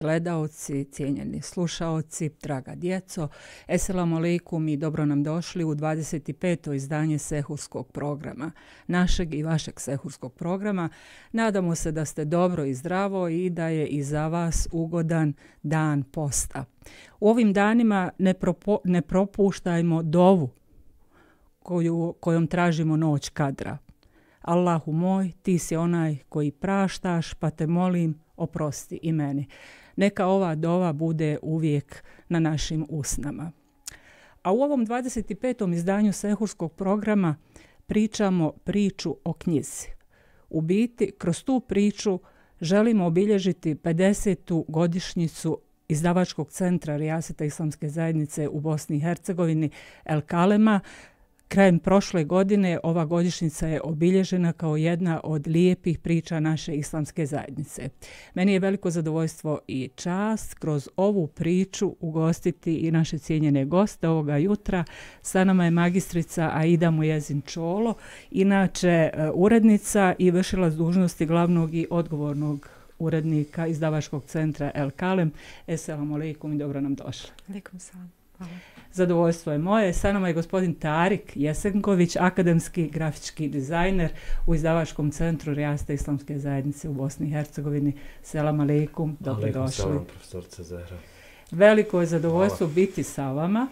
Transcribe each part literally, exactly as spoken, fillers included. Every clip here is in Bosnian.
gledaoci, cijenjeni slušaoci, draga djeco, eselamu alejkum i dobro nam došli u dvadeset peto izdanje Sehurskog programa, našeg i vašeg Sehurskog programa. Nadamo se da ste dobro i zdravo i da je i za vas ugodan dan posta. U ovim danima ne, propo, ne propuštajmo dovu koju, kojom tražimo noć kadra. Allahu moj, ti si onaj koji praštaš, pa te molim, oprosti i meni. Neka ova dova bude uvijek na našim usnama. A u ovom dvadeset petom izdanju Sehurskog programa pričamo priču o knjizi. U biti, kroz tu priču želimo obilježiti pedesetu godišnjicu izdavačkog centra Rijaseta Islamske zajednice u Bosni i Hercegovini El Kalema. Krajem prošle godine ova godišnjica je obilježena kao jedna od lijepih priča naše islamske zajednice. Meni je veliko zadovoljstvo i čast kroz ovu priču ugostiti i naše cijenjene goste ovoga jutra. Sa nama je magistrica Aida Mujezin Čolo, inače urednica i vršilac dužnosti glavnog i odgovornog urednika izdavačkog centra El Kalem. Eselamu alejkum i dobro nam došli. Alejkum selam. Hvala. Zadovoljstvo je moje. Sa nama je gospodin Tarik Jesenković, akademski grafički dizajner u izdavačkom centru Rijaseta Islamske zajednice u Bosni i Hercegovini. Selam alejkum, dobrodošli. Alejkum selam, profesorice Zehra. Veliko je zadovoljstvo Hvala. biti sa vama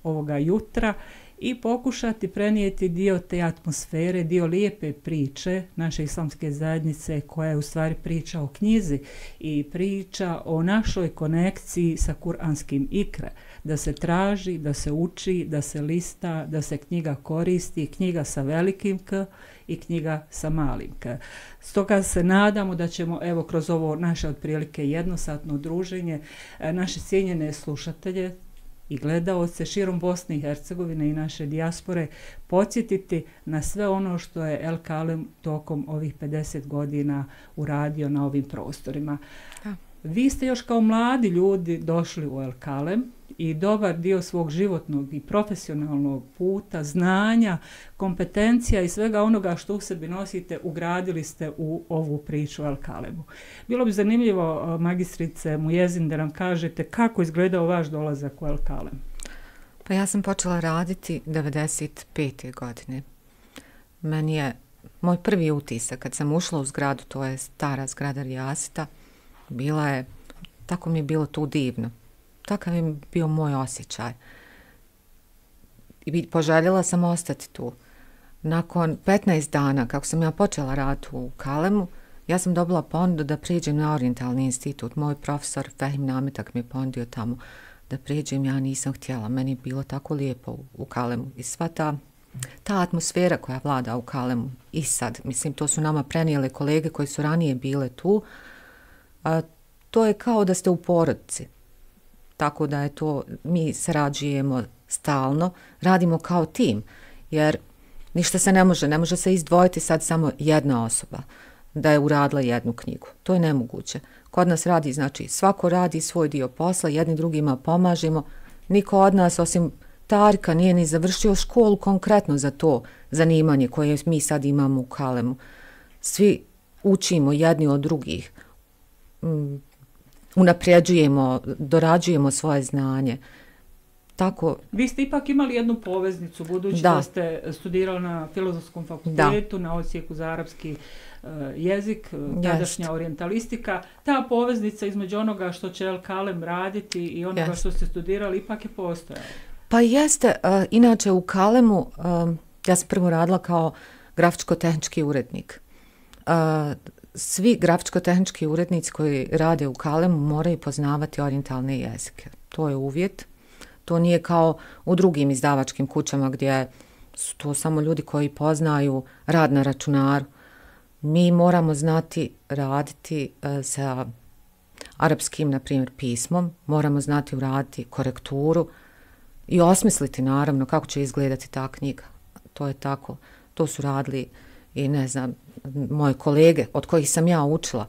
ovoga jutra i pokušati prenijeti dio te atmosfere, dio lijepe priče naše islamske zajednice koja je u stvari priča o knjizi i priča o našoj konekciji sa kuranskim ikre. Da se traži, da se uči, da se lista, da se knjiga koristi, knjiga sa velikim K i knjiga sa malim K. Stoga se nadamo da ćemo evo kroz ovo naše otprilike jednosatno druženje naše cijenjene slušatelje i gledaoce širom Bosne i Hercegovine i naše dijaspore podsjetiti na sve ono što je El Kalem tokom ovih pedeset godina uradio na ovim prostorima. Da. Vi ste još kao mladi ljudi došli u El Kalem i dobar dio svog životnog i profesionalnog puta, znanja, kompetencija i svega onoga što u sebi nosite ugradili ste u ovu priču o El Kalemu. Bilo bi zanimljivo, magistrice Mujezin, da nam kažete kako izgledao vaš dolazak u El Kalem. Pa ja sam počela raditi devedeset pete godine. Meni je moj prvi utisak kad sam ušla u zgradu, to je stara zgrada Rijaseta, bila je, tako mi je bilo tu divno. Takav je bio moj osjećaj. I poželjela sam ostati tu. Nakon petnaest dana, kako sam ja počela raditi u Kalemu, ja sam dobila ponudu da prijeđem na Orientalni institut. Moj profesor Fehim Nametak mi je ponudio tamo da prijeđem, ja nisam htjela. Meni je bilo tako lijepo u, u Kalemu. I sva ta, ta atmosfera koja vlada u Kalemu i sad, mislim, to su nama prenijele kolege koji su ranije bile tu, a, to je kao da ste u porodici. Tako da je to, mi sarađujemo stalno, radimo kao tim, jer ništa se ne može, ne može se izdvojiti sad samo jedna osoba da je uradila jednu knjigu. To je nemoguće. Kod nas radi, znači, svako radi svoj dio posla, jedni drugima pomažemo. Niko od nas, osim Tarika, nije ni završio školu konkretno za to zanimanje koje mi sad imamo u Kalemu. Svi učimo jedni od drugih. Mm. Unapređujemo, dorađujemo svoje znanje. Tako. Vi ste ipak imali jednu poveznicu, budući da, da ste studirali na Filozofskom fakultetu, da. na odsjeku za arapski uh, jezik, tadašnja orijentalistika. Ta poveznica između onoga što će El Kalem raditi i onoga Jest. što ste studirali ipak je postojala. Pa jeste. Uh, inače u Kalemu uh, ja sam prvo radila kao grafičko-tehnički urednik. Uh, Svi grafičko-tehnički urednici koji rade u Kalemu moraju poznavati orijentalne jezike. To je uvjet. To nije kao u drugim izdavačkim kućama gdje su to samo ljudi koji poznaju rad na računaru. Mi moramo znati raditi uh, sa arapskim, na primjer, pismom. Moramo znati uraditi korekturu i osmisliti, naravno, kako će izgledati ta knjiga. To je tako. To su radili i ne znam, moje kolege od kojih sam ja učila.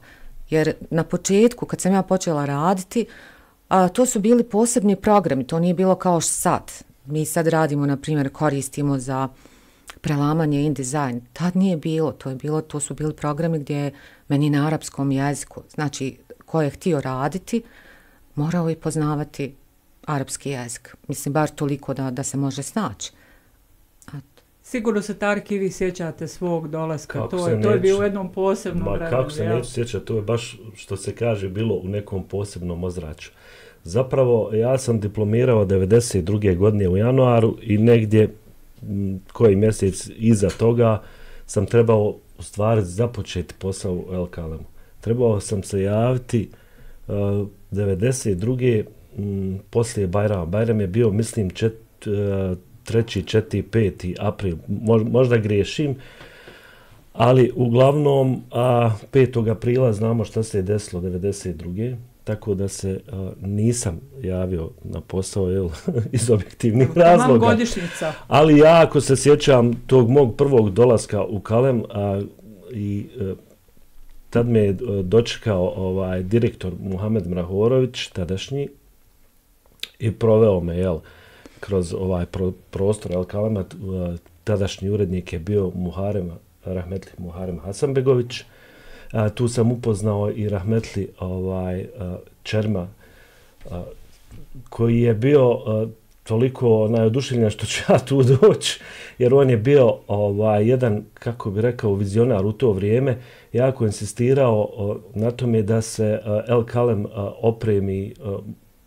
Jer na početku, kad sam ja počela raditi, a, to su bili posebni programi, to nije bilo kao sad. Mi sad radimo, na primjer, koristimo za prelamanje InDesign. Tad nije bilo, to je bilo, to su bili programi gdje meni na arapskom jeziku, znači ko je htio raditi, morao i poznavati arapski jezik. Mislim, bar toliko da, da se može snaći. Sigurno se Tarki vi sjećate svog dolaska, to je, to je bilo u jednom posebnom vremenu. Ma kako se neću sjećati, to je baš što se kaže bilo u nekom posebnom ozračju. Zapravo ja sam diplomirao devedeset druge godine u januaru i negdje m, koji mjesec iza toga sam trebao u stvari započeti posao u El Kalemu. Trebao sam se javiti uh, devedeset druge m, poslije Bajrama. Bajram je bio, mislim, čet, uh, treći, četiri, peti april, možda griješim, ali uglavnom a, petog aprila znamo šta se je desilo devedeset druge tako da se a, nisam javio na posao jel, iz objektivnih razloga. Godišnjica. Ali ja ako se sjećam tog mog prvog dolaska u Kalem a, i a, tad me je dočekao ovaj, direktor Muhamed Mrahorović, tadašnji, i proveo me, jel, kroz ovaj pro, prostor El Kalema. Tadašnji urednik je bio Muharem, rahmetli Muharem Hasanbegović. A, tu sam upoznao i rahmetli ovaj, a, Čerma, a, koji je bio a, toliko najoduševljen što ću ja tu doći, jer on je bio ovaj, jedan, kako bi rekao, vizionar u to vrijeme, jako insistirao a, na tome da se a, El Kalem a, opremi a,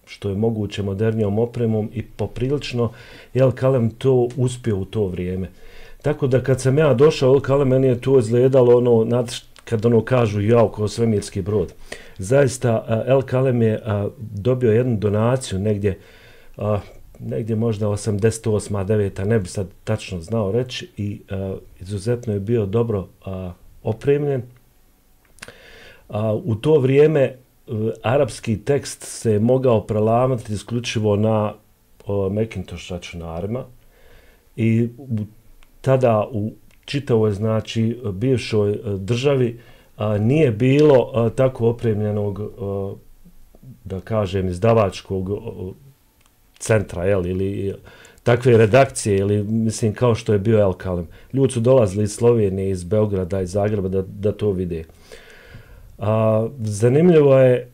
što je moguće modernijom opremom i poprilično El Kalem to uspio u to vrijeme. Tako da kad sam ja došao u El Kalem, meni je to izgledalo ono, kad ono kažu jao kao svemirski brod. Zaista El Kalem je a, dobio jednu donaciju negdje, a, negdje možda osamdeset osma deveta ne bi sad tačno znao reći, i a, izuzetno je bio dobro a, opremljen. A, u to vrijeme arapski tekst se mogao prelamati isključivo na o, Macintosh računarima i tada u čitavoj, znači, bivšoj državi a, nije bilo a, tako opremljenog, a, da kažem, izdavačkog a, centra, jel, ili takve redakcije, ili mislim kao što je bio El Kalem. Ljudi su dolazili iz Slovenije, iz Beograda, iz Zagreba da, da to vide. A, zanimljivo je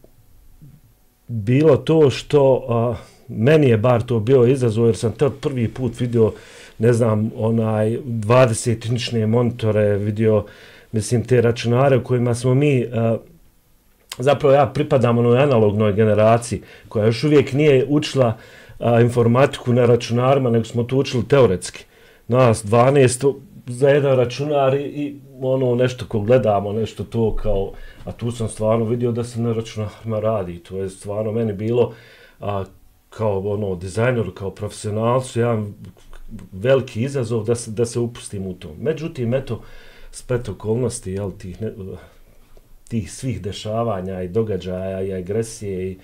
bilo to što a, meni je bar to bio izazov, jer sam tad prvi put vidio, ne znam, onaj dvadeset inčne monitore, vidio, mislim, te računare u kojima smo mi, a, zapravo ja pripadam onoj analognoj generaciji koja još uvijek nije učila a, informatiku na računarima, nego smo to učili teoretski. Nas dvanaest za jedan računar i, i ono nešto ko gledamo, nešto to kao, a tu sam stvarno vidio da se na računarima radi. To je stvarno meni bilo a, kao ono dizajner, kao profesionalcu, jedan veliki izazov da se, da se upustim u to. Međutim, eto, splet okolnosti, jel, tih, ne, tih svih dešavanja i događaja i agresije i,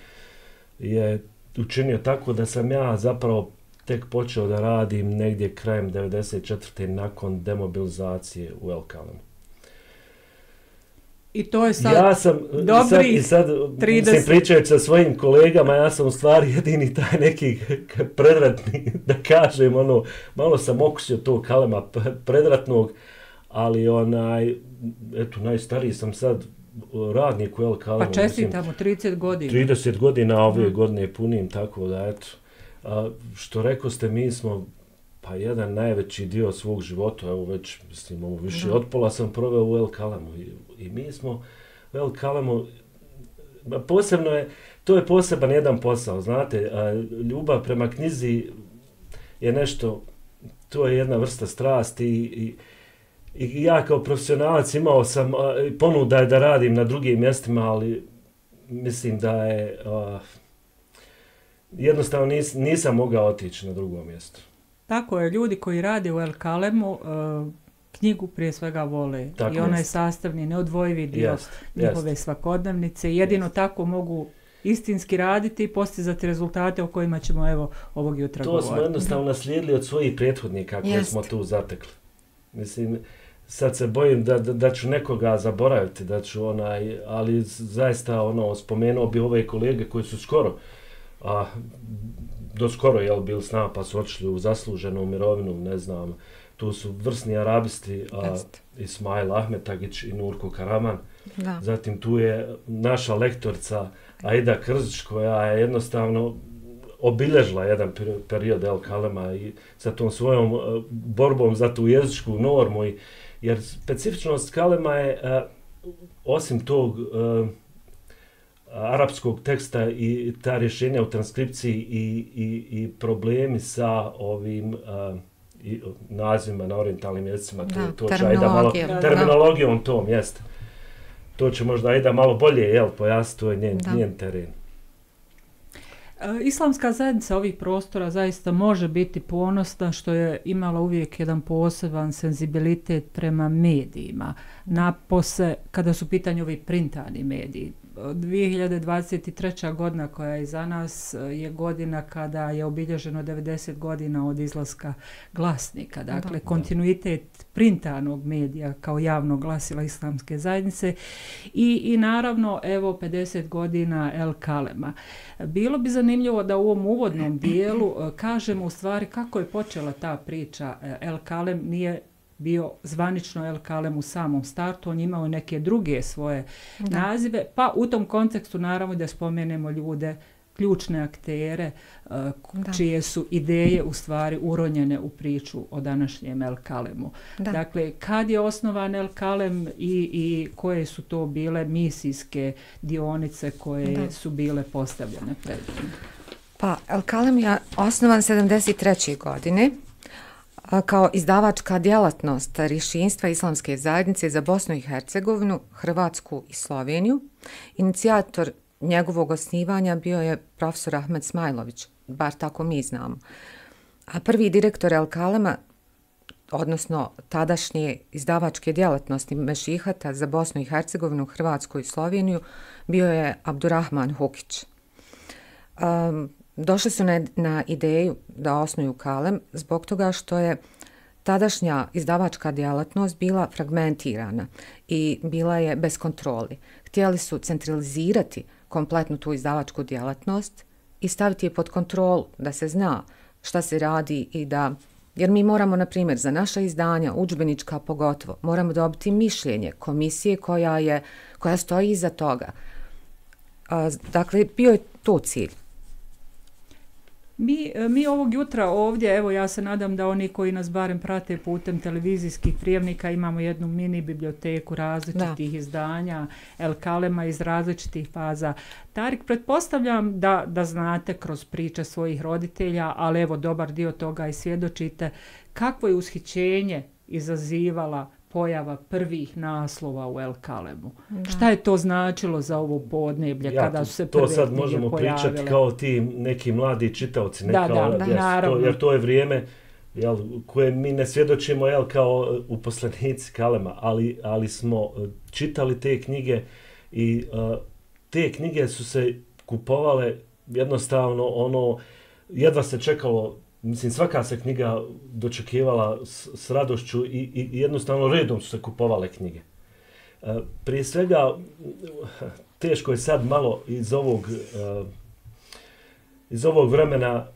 je učinio tako da sam ja zapravo tek počeo da radim negdje krajem devedeset četvrte nakon demobilizacije u El Kalemu. I to je sad ja sam, dobri sad, i sad, trideset... mislim, pričajući sa svojim kolegama, ja sam u stvari jedini taj neki predratni, da kažem, ono, malo sam okusio tog Kalema predratnog, ali onaj, eto, najstariji sam sad radnik u El Kalemu. Pa čestitamo, trideset godina. trideset godina ove hmm. godine punim, tako da, eto. A, što rekao ste, mi smo pa jedan najveći dio svog života, evo već, mislim, ovo više da. Od pola sam proveo u El Kalemu i, i mi smo u El Kalemu, posebno je, to je poseban jedan posao, znate, a, ljubav prema knjizi je nešto, to je jedna vrsta strasti i, i, i ja kao profesionalac imao sam a, ponuda da radim na drugim mjestima, ali mislim da je a, jednostavno nis, nisam mogao otići na drugo mjesto. Tako je, ljudi koji rade u El Kalemu uh, knjigu prije svega vole. Tako I ona je sastavni, neodvojivi dio jest, njihove jest. svakodnevnice. Jedino jest. tako mogu istinski raditi i postizati rezultate o kojima ćemo evo ovog jutra to govoriti. To smo jednostavno naslijedili od svojih prethodnika koje jest. smo tu zatekli. Mislim, sad se bojim da, da, da ću nekoga zaboraviti, da ću onaj, ali zaista ono, spomenuo bi ove kolege koji su skoro a do skoro je bili s nama pa su otišli u zasluženu mirovinu, ne znam, tu su vrsni arabisti, a, Ismail Ahmetagić i Nurko Karaman. Da. Zatim tu je naša lektorica Aida Krzić, koja je jednostavno obilježila jedan period El Kalema i sa tom svojom uh, borbom za tu jezičku normu. I, jer specifičnost Kalema je, uh, osim tog uh, arapskog teksta i ta rješenja u transkripciji i, i, i problemi sa ovim uh, i nazivima na orientalnim jezicima, da, to, to će Aida malo, terminologijom tom, jeste. To će možda Aida malo bolje, jel, pojasniti, to je njen, njen teren. Islamska zajednica ovih prostora zaista može biti ponosna što je imala uvijek jedan poseban senzibilitet prema medijima. Napose, kada su pitanje ovi printani mediji. dvije hiljade dvadeset treća godina koja je iza nas je godina kada je obilježeno devedeset godina od izlaska Glasnika. Dakle, da, kontinuitet printanog medija kao javnog glasila Islamske zajednice i, i naravno, evo, pedeset godina El Kalema. Bilo bi zanimljivo da u ovom uvodnom dijelu kažemo u stvari kako je počela ta priča. El Kalem nije bio zvanično El Kalem u samom startu, on imao neke druge svoje da. nazive, pa u tom kontekstu naravno da spomenemo ljude, ključne aktere, uh, čije su ideje u stvari uronjene u priču o današnjem El Kalemu. Da. Dakle, kad je osnovan El Kalem i, i koje su to bile misijske dionice koje da. su bile postavljene pred njim? Pa, El Kalem je osnovan sedamdeset treće godine kao izdavačka djelatnost Rješinstva Islamske zajednice za Bosnu i Hercegovinu, Hrvatsku i Sloveniju. Inicijator njegovog osnivanja bio je profesor Ahmed Smajlović, bar tako mi znamo. A prvi direktor El Kalema, odnosno tadašnje izdavačke djelatnosti Mešihata za Bosnu i Hercegovinu, Hrvatsku i Sloveniju, bio je Abdurrahman Hukić. Um, Došli su na, na ideju da osnuju Kalem zbog toga što je tadašnja izdavačka djelatnost bila fragmentirana i bila je bez kontroli. Htjeli su centralizirati kompletnu tu izdavačku djelatnost i staviti je pod kontrolu, da se zna šta se radi i da, jer mi moramo, na primjer, za naša izdanja, udžbenička pogotovo, moramo dobiti mišljenje komisije koja je, koja stoji iza toga. A, dakle, bio je to cilj. Mi, mi ovog jutra ovdje, evo ja se nadam da oni koji nas barem prate putem televizijskih prijemnika imamo jednu mini biblioteku različitih da. izdanja El Kalema iz različitih faza. Tarik, pretpostavljam da, da znate kroz priče svojih roditelja, ali evo dobar dio toga i svjedočite, kakvo je ushićenje izazivala pojava prvih naslova u El Kalemu. Da. Šta je to značilo za ovo podneblje ja, kada su se prve knjige pojavile? To sad možemo pričati kao ti neki mladi čitaoci. Ne da, kao, da, da, jes, naravno. To, jer to je vrijeme jel, koje mi ne svjedočimo jel, kao uposlenici Kalema, ali, ali smo čitali te knjige i uh, te knjige su se kupovale jednostavno ono, jedva se čekalo. Mislim, svaka se knjiga dočekivala s, s radošću i, i, i jednostavno redom su se kupovale knjige. E, prije svega, teško je sad malo iz ovog, e, iz ovog vremena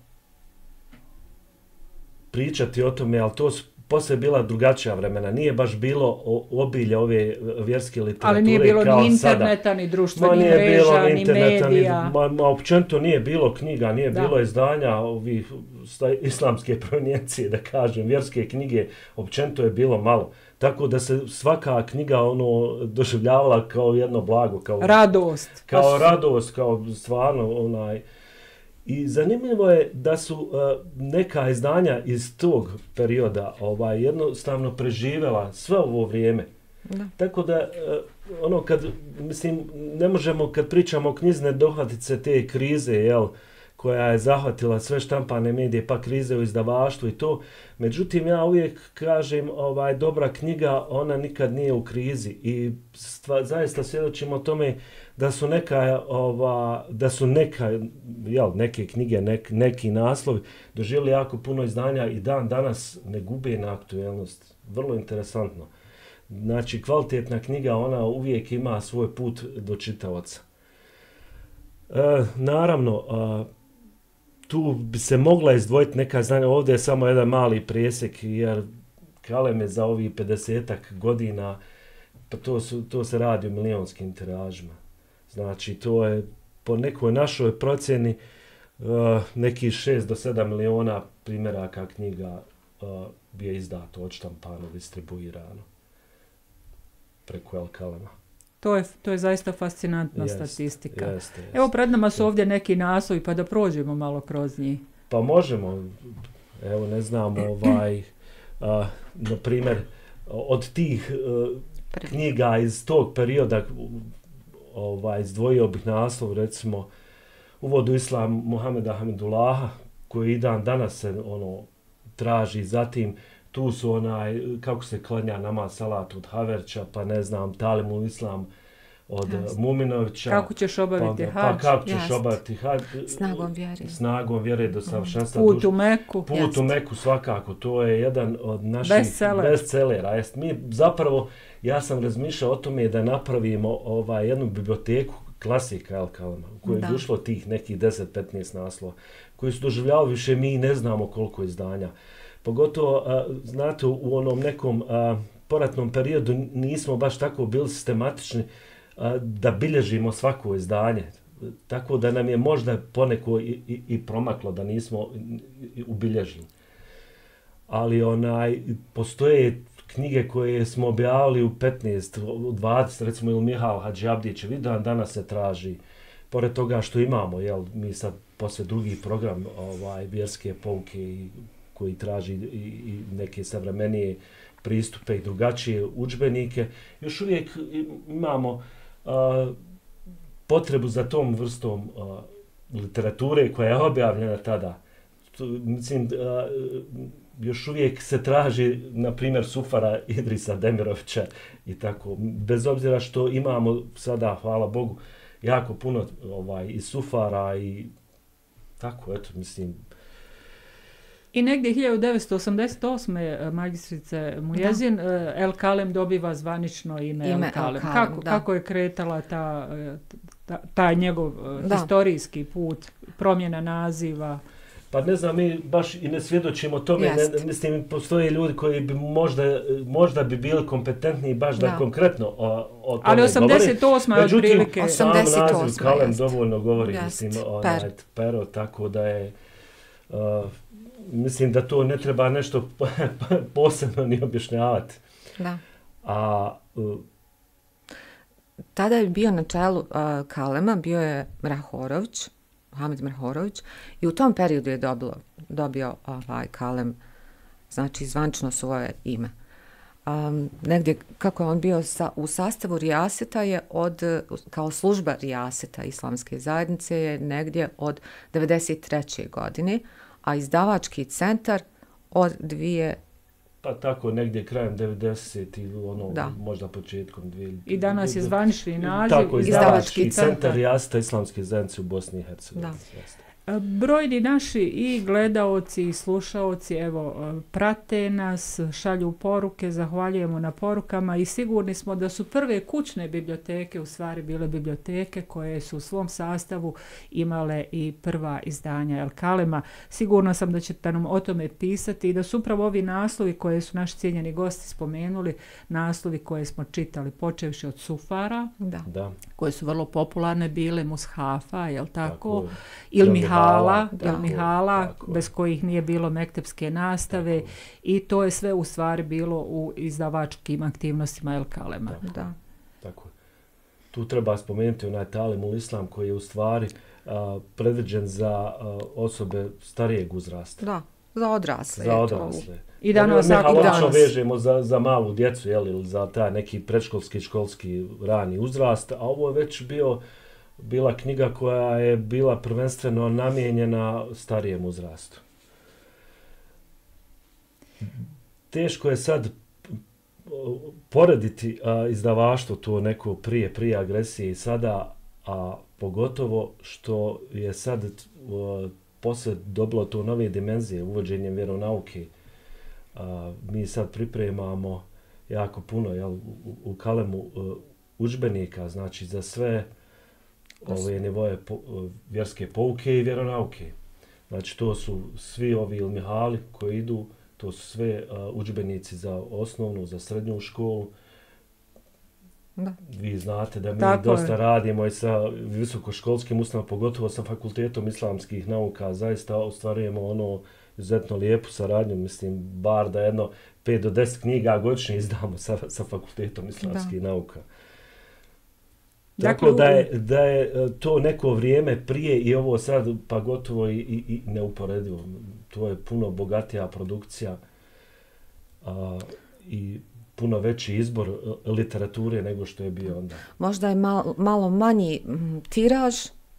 pričati o tome, ali to su poslije bila drugačija vremena. Nije baš bilo obilje ove vjerske literature. Ali nije bilo kao ni interneta, sada. Ni društvenih mreža, ni medija. Ni, ma, ma općenito nije bilo knjiga, nije da. bilo izdanja ovih islamske provenijencije, da kažem, vjerske knjige, općenito je bilo malo. Tako da se svaka knjiga ono doživljavala kao jedno blago. Kao radost. Kao As... radost, kao stvarno onaj... I zanimljivo je da su uh, neka izdanja iz tog perioda ovaj jednostavno preživjela sve ovo vrijeme. Da. Tako da uh, ono kad mislim ne možemo kad pričamo o knjizi ne dohvatiti se te krize, jel, koja je zahvatila sve štampane medije, pa krize u izdavaštvu i to. Međutim, ja uvijek kažem, ovaj dobra knjiga, ona nikad nije u krizi i stva, zaista svjedočimo o tome da su neka, ova, da su neka, jel, neke knjige, nek, neki naslovi doživjeli jako puno izdanja i dan danas ne gube na aktuelnost. Vrlo interesantno. Znači, kvalitetna knjiga, ona uvijek ima svoj put do čitaoca. E, naravno, a, tu bi se mogla izdvojiti neka znanja, ovdje je samo jedan mali presjek, jer Kalem je za ovih pedesetak godina, pa to, su, to se radi o milionskim tiražima. Znači, to je po nekoj našoj procjeni uh, neki šest do sedam miliona primjeraka knjiga uh, je izdato, odštampano, distribuirano preko El Kalema. To je, to je zaista fascinantna jest, statistika. Jeste, jeste. Evo, pred nama su ovdje neki naslovi, pa da prođemo malo kroz njih. Pa možemo, evo ne znam, ovaj, uh, na primjer, od tih uh, knjiga iz tog perioda, ovaj, izdvojio bih naslov, recimo, Uvod u islam Muhameda Hamidullaha, koji i dan danas se ono traži, zatim tu su onaj, kako se klanja namaz salat od Haverća, pa ne znam, Talim u islam od Just. Muminovića. Kako ćeš obaviti pa, hađ? Pa kako ćeš Just. obaviti hađ? Snagom vjere. Snagom vjere do savršenstva. Put u Meku. Put Just. u Meku svakako, to je jedan od naših Bestseller. bestsellera. Jest, mi zapravo, ja sam razmišljao o tome da napravimo ovaj, jednu biblioteku klasika El Kalema, u kojoj je ušlo tih nekih deset do petnaest naslova, koji su doživljavali više, mi ne znamo koliko izdanja. Pogotovo, a, znate, u onom nekom a, poratnom periodu nismo baš tako bili sistematični a, da bilježimo svako izdanje. Tako da nam je možda poneko i, i, i promaklo da nismo ubilježili. Ali onaj, postoje knjige koje smo objavili u petnaest, u dvadeset, recimo ili Mihal Hadžiabdićev, i dan danas se traži, pored toga što imamo, jel, mi sad posle drugi program ovaj, vjerske pouke i, koji traži i, i neke savremenije pristupe i drugačije udžbenike, još uvijek imamo a, potrebu za tom vrstom a, literature koja je objavljena tada. Tu, mislim, a, još uvijek se traži, na primjer, Sufara Idrisa Demirovića i tako. Bez obzira što imamo sada, hvala Bogu, jako puno ovaj, i Sufara i tako, eto, mislim. I negdje hiljadu devetsto osamdeset osme magistrice Mujezin, da. El Kalem dobiva zvanično ime, ime El Kalem. El Kalem kako, kako je kretala ta, ta, ta njegov da. historijski put, promjena naziva? Pa ne znam, mi baš i ne svjedočimo tome, ne, mislim, postoje ljudi koji bi možda, možda bi bili kompetentni baš da, da konkretno o, o tome ali osamdeset osma je otprilike. Međutim, sam naziv Kalem jest. dovoljno govori, jest. mislim, onaj, per. pero, tako da je, uh, mislim da to ne treba nešto posebno ni objašnjavati. Da. A, uh, tada je bio na čelu uh, Kalema, bio je Mrahorović, Mohamed Mrahorović, i u tom periodu je dobilo, dobio ovaj Kalem, znači zvančno svoje ime. Um, negdje, kako je on bio sa, u sastavu Rijaseta je od, kao služba Rijaseta islamske zajednice je negdje od devedeset treće godine, a izdavački centar od dvije pa tako negdje krajem devedesetih ili ono, da. možda početkom dvije. I danas je zvanični naziv tako, izdavački centar Rijaseta islamske zajednice u Bosni i Hercegovini. Brojni naši i gledaoci i slušaoci evo prate nas, šalju poruke, zahvaljujemo na porukama i sigurni smo da su prve kućne biblioteke u stvari bile biblioteke koje su u svom sastavu imale i prva izdanja El Kalema. Sigurno sam da ćete nam o tome pisati i da su upravo ovi naslovi koje su naši cijenjeni gosti spomenuli, naslovi koje smo čitali počevši od Sufara, da. Da. koje su vrlo popularne bile, Mushafa, jel tako? tako ili Mihala, da, Mihala tako. bez kojih nije bilo mektepske nastave tako. I to je sve u stvari bilo u izdavačkim aktivnostima El Kalema. Tako. Da. Tako. Tu treba spomenuti onaj Talim ul Islam koji je u stvari a, predviđen za a, osobe starijeg uzrasta. Da, za odrasle. Za odrasle. I danas, ne, i danas. vežemo za, za malu djecu, jel, ili za taj neki predškolski, školski rani uzrast, a ovo je već bio bila knjiga koja je bila prvenstveno namijenjena starijem uzrastu. Teško je sad porediti a, izdavaštvo to neko prije, prije agresije i sada, a pogotovo što je sad a, posle dobilo to nove dimenzije uvođenjem vjeronauke. A, mi sad pripremamo jako puno jel, u, u Kalemu a, udžbenika, znači za sve ove nivoje po, vjerske pouke i vjeronauke. Znači to su svi ovi ilmihali koji idu, to su sve uh, udžbenici za osnovnu, za srednju školu. Da. Vi znate da mi Tako dosta je. radimo i sa visokoškolskim ustanovama, pogotovo sa fakultetom islamskih nauka, zaista ostvarujemo ono izuzetno lijepu saradnju, mislim, bar da jedno pet do deset knjiga godišnje izdamo sa, sa fakultetom islamskih da. nauka. Tako dakle, da je, da je to neko vrijeme prije i ovo sad pa gotovo i, i, i neuporedivo. To je puno bogatija produkcija a, i puno veći izbor literature nego što je bio onda. Možda je malo, malo manji tiraž,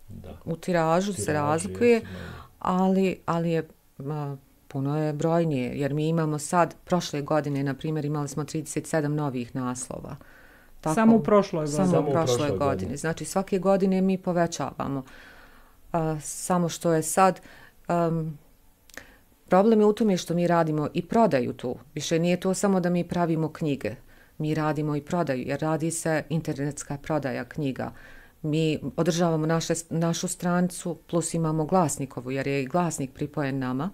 da. u tiražu Tiraži se razlikuje, jesu, ali, ali je a, puno je brojnije, jer mi imamo sad, prošle godine, na primjer, imali smo trideset sedam novih naslova. Tako, samo u prošloj godini. Samo, samo u prošloj, prošloj godini. godini. Znači, svake godine mi povećavamo. A, samo što je sad... Um, Problem je u tome što mi radimo i prodaju tu. Više nije to samo da mi pravimo knjige. Mi radimo i prodaju, jer radi se internetska prodaja knjiga. Mi održavamo naše, našu stranicu, plus imamo glasnikovu, jer je i glasnik pripojen nama.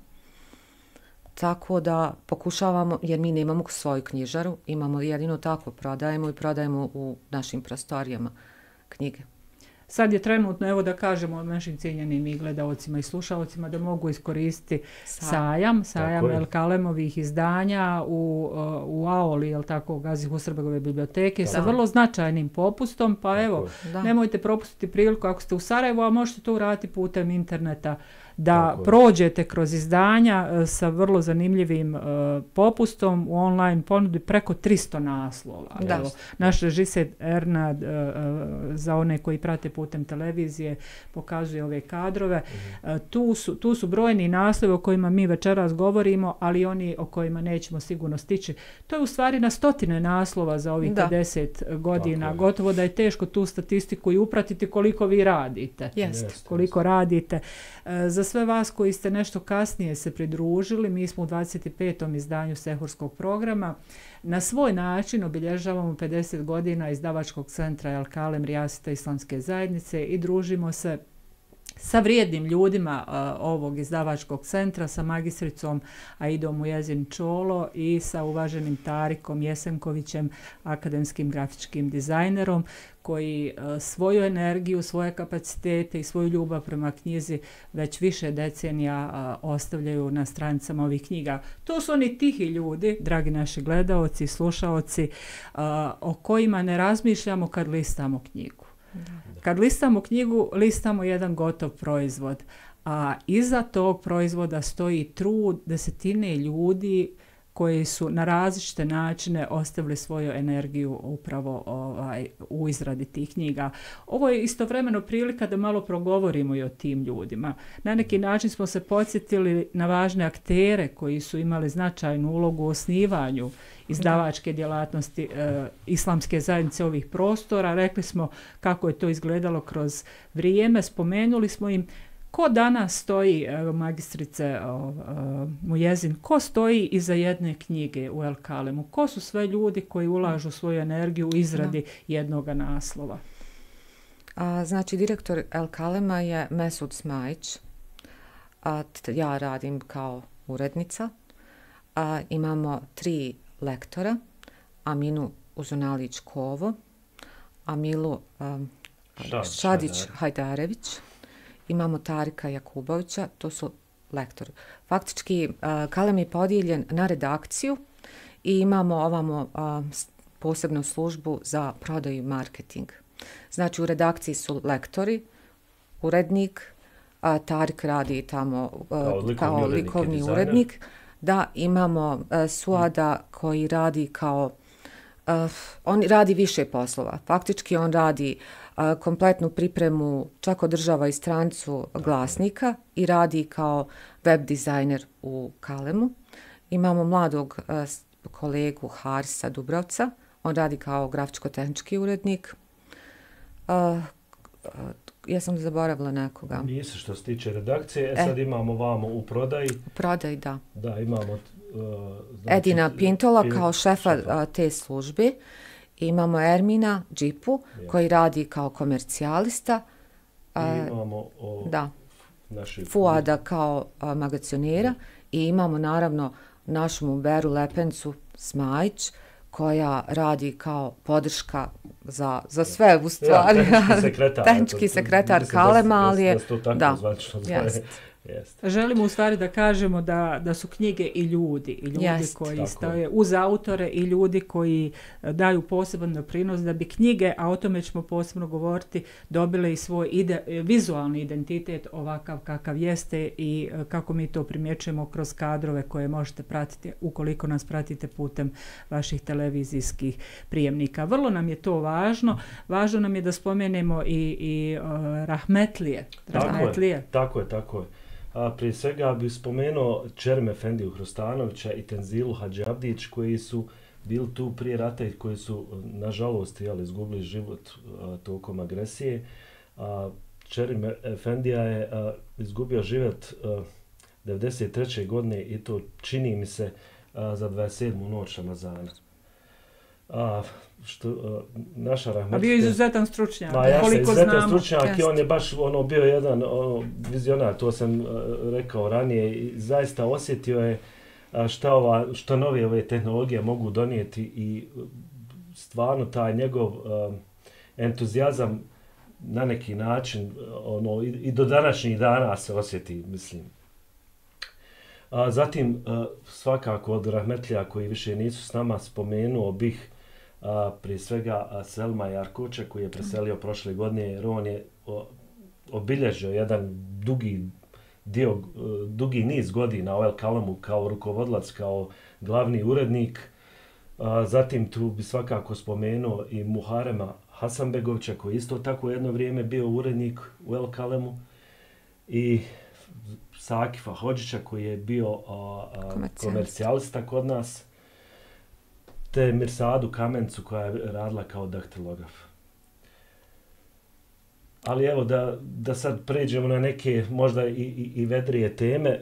Tako da pokušavamo, jer mi nemamo svoju knjižaru, imamo jedino tako prodajemo i prodajemo u našim prostorijama knjige. Sad je trenutno, evo da kažemo našim cijenjenim i gledaocima i slušalcima da mogu iskoristiti Sa. sajam, sajam El Kalemovih izdanja u, u Aoli, jel tako, Gazi Husrebegove biblioteke, da. sa vrlo značajnim popustom, pa tako evo, da. nemojte propustiti priliku ako ste u Sarajevu, a možete to uraditi putem interneta, da tako prođete kroz izdanja sa vrlo zanimljivim uh, popustom u online ponudi preko tristo naslova. Da. Evo, naš režiser Ernad uh, uh, za one koji prate putem televizije pokazuje ove kadrove. Mm-hmm. Uh, tu, su, tu su brojni naslovi o kojima mi večeras govorimo, ali oni o kojima nećemo sigurno stići. To je u stvari na stotine naslova za ovih da. pedeset godina. Tako gotovo da je teško tu statistiku i upratiti koliko vi radite. Jest. Koliko radite. Uh, za sve vas koji ste nešto kasnije se pridružili, mi smo u dvadeset petom izdanju Sehurskog programa. Na svoj način obilježavamo pedeset godina izdavačkog centra El Kalem Rijaseta Islamske zajednice i družimo se sa vrijednim ljudima uh, ovog izdavačkog centra, sa magistricom Aidom Mujezin Čolo i sa uvaženim Tarikom Jesenkovićem, akademskim grafičkim dizajnerom, koji uh, svoju energiju, svoje kapacitete i svoju ljubav prema knjizi već više decenija uh, ostavljaju na stranicama ovih knjiga. To su oni tihi ljudi, dragi naši gledaoci i slušaoci, uh, o kojima ne razmišljamo kad listamo knjigu. Da. Kad listamo knjigu, listamo jedan gotov proizvod, a iza tog proizvoda stoji trud desetine ljudi koji su na različite načine ostavili svoju energiju upravo ovaj, u izradi tih knjiga. Ovo je istovremeno prilika da malo progovorimo i o tim ljudima. Na neki način smo se podsjetili na važne aktere koji su imali značajnu ulogu u osnivanju izdavačke djelatnosti e, islamske zajednice ovih prostora. Rekli smo kako je to izgledalo kroz vrijeme, spomenuli smo im ko danas stoji, evo, magistrice o, o, Mujezin, ko stoji iza jedne knjige u El Kalemu? Ko su sve ljudi koji ulažu svoju energiju u izradi da. jednog naslova? A, znači, direktor El Kalema je Mesud Smajić. A, t- ja radim kao urednica. A, imamo tri lektora, Aminu Uzunalić-Kovo, Amilu um, Šadić-Hajdarević, imamo Tarika Jakubovića, to su lektori. Faktički, uh, Kalem je podijeljen na redakciju i imamo ovamo uh, posebnu službu za prodaju i marketing. Znači, u redakciji su lektori, urednik, uh, Tarik radi tamo uh, kao likovni, kao likovni urednik, urednik. Da, imamo uh, Suada koji radi kao, uh, on radi više poslova. Faktički on radi uh, kompletnu pripremu, čak održava i stranicu glasnika i radi kao web dizajner u Kalemu. Imamo mladog uh, kolegu Harisa Dubrovca, on radi kao grafičko-tehnički urednik. Uh, uh, ja sam zaboravila nekoga. Nisi što se tiče redakcije, e, sad imamo vamo u prodaji. U prodaji, da. Da, imamo... Uh, znači, Edina Pintola Pin, kao šefa, šefa te službe. Imamo Ermina Džipu ja. koji radi kao komercijalista. I imamo o, da. naši Fuada kao a, magacionera. Ja. I imamo naravno našu Muberu Lepencu Smajić koja radi kao podrška za, za sve u stvari. Ja, tehnički sekretar. tehnički sekretar Kalema, ali je... Da, da, da, jest. Jest. Želimo u stvari da kažemo da, da su knjige i ljudi, i ljudi Jest. koji Tako. stoje uz autore i ljudi koji daju poseban doprinos da bi knjige, a o tome ćemo posebno govoriti, dobile i svoj ide, vizualni identitet ovakav kakav jeste i kako mi to primjećujemo kroz kadrove koje možete pratiti ukoliko nas pratite putem vaših televizijskih prijemnika. Vrlo nam je to važno. Važno nam je da spomenemo i, i uh, rahmetlije. Rahmetlije. Tako je, tako je, tako je. A prije svega bih spomenuo Čerem Efendiju Hrostanovića i Tenzilu Hadži Abdić koji su bili tu prije rata i koji su nažalost jeli, izgubili život a, tokom agresije. A, Čerem Efendija je a, izgubio život a, devedeset treće godine i to čini mi se a, za dvadeset sedmu noć Ramazana. A, što, a, naša rahmetlija... A bio je izuzetan stručnjak, Ma, ja koliko izuzetan znamo. stručnjak Jest. i on je baš ono, bio jedan ono, vizionar, to sam uh, rekao ranije, i zaista osjetio je uh, šta, ova, šta nove ove tehnologije mogu donijeti i uh, stvarno taj njegov uh, entuzijazam na neki način uh, ono, i, i do današnjih dana se osjeti, mislim. A zatim, uh, svakako od rahmetlija koji više nisu s nama, spomenuo bih a, prije svega a, Selma Jarkoča koji je preselio prošle godine jer on je o, obilježio jedan dugi dio, dugi niz godina u El Kalemu kao rukovodilac, kao glavni urednik. A, zatim tu bi svakako spomenuo i Muharema Hasanbegovića koji isto tako jedno vrijeme bio urednik u El Kalemu i Sakifa Hodžića koji je bio a, a, komercijalista kod nas, te Mirsadu Kamencu koja je radila kao daktilograf. Ali evo da, da sad pređemo na neke možda i, i, i vedrije teme. E,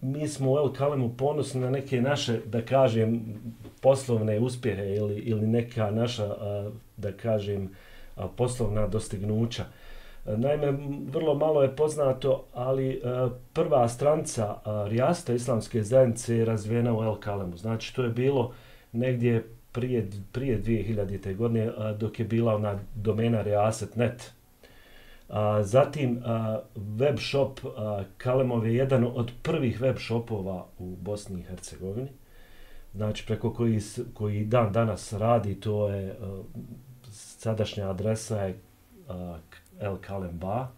mi smo u El Kalemu ponosni na neke naše, da kažem, poslovne uspjehe ili, ili neka naša, a, da kažem, a, poslovna dostignuća. E, naime, vrlo malo je poznato, ali a, prva stranica a, Rijasta islamske zajednice je razvijena u El Kalemu. Znači, to je bilo negdje prije, prije dvije hiljadite. godine a, dok je bila ona domena rijaset tačka net. A, zatim a, web shop a, Kalemov je jedan od prvih web shopova u Bosni i Hercegovini. Znači preko koji, koji dan danas radi, to je a, sadašnja adresa je a, El Kalem Ba.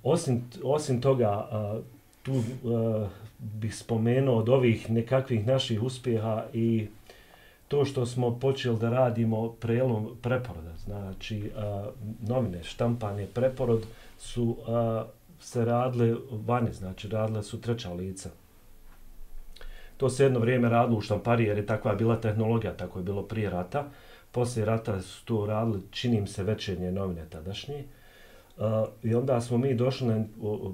Osim, osim toga, a, tu a, bih spomenuo od ovih nekakvih naših uspjeha i to što smo počeli da radimo prelom preporoda, znači a, novine, štampanje, preporod su a, se radile vani, znači radile su treća lica. To se jedno vrijeme radilo u štampariji jer je takva bila tehnologija, tako je bilo prije rata. Poslije rata su to radili, čini mi se, večernje novine tadašnje. A, I onda smo mi došli na,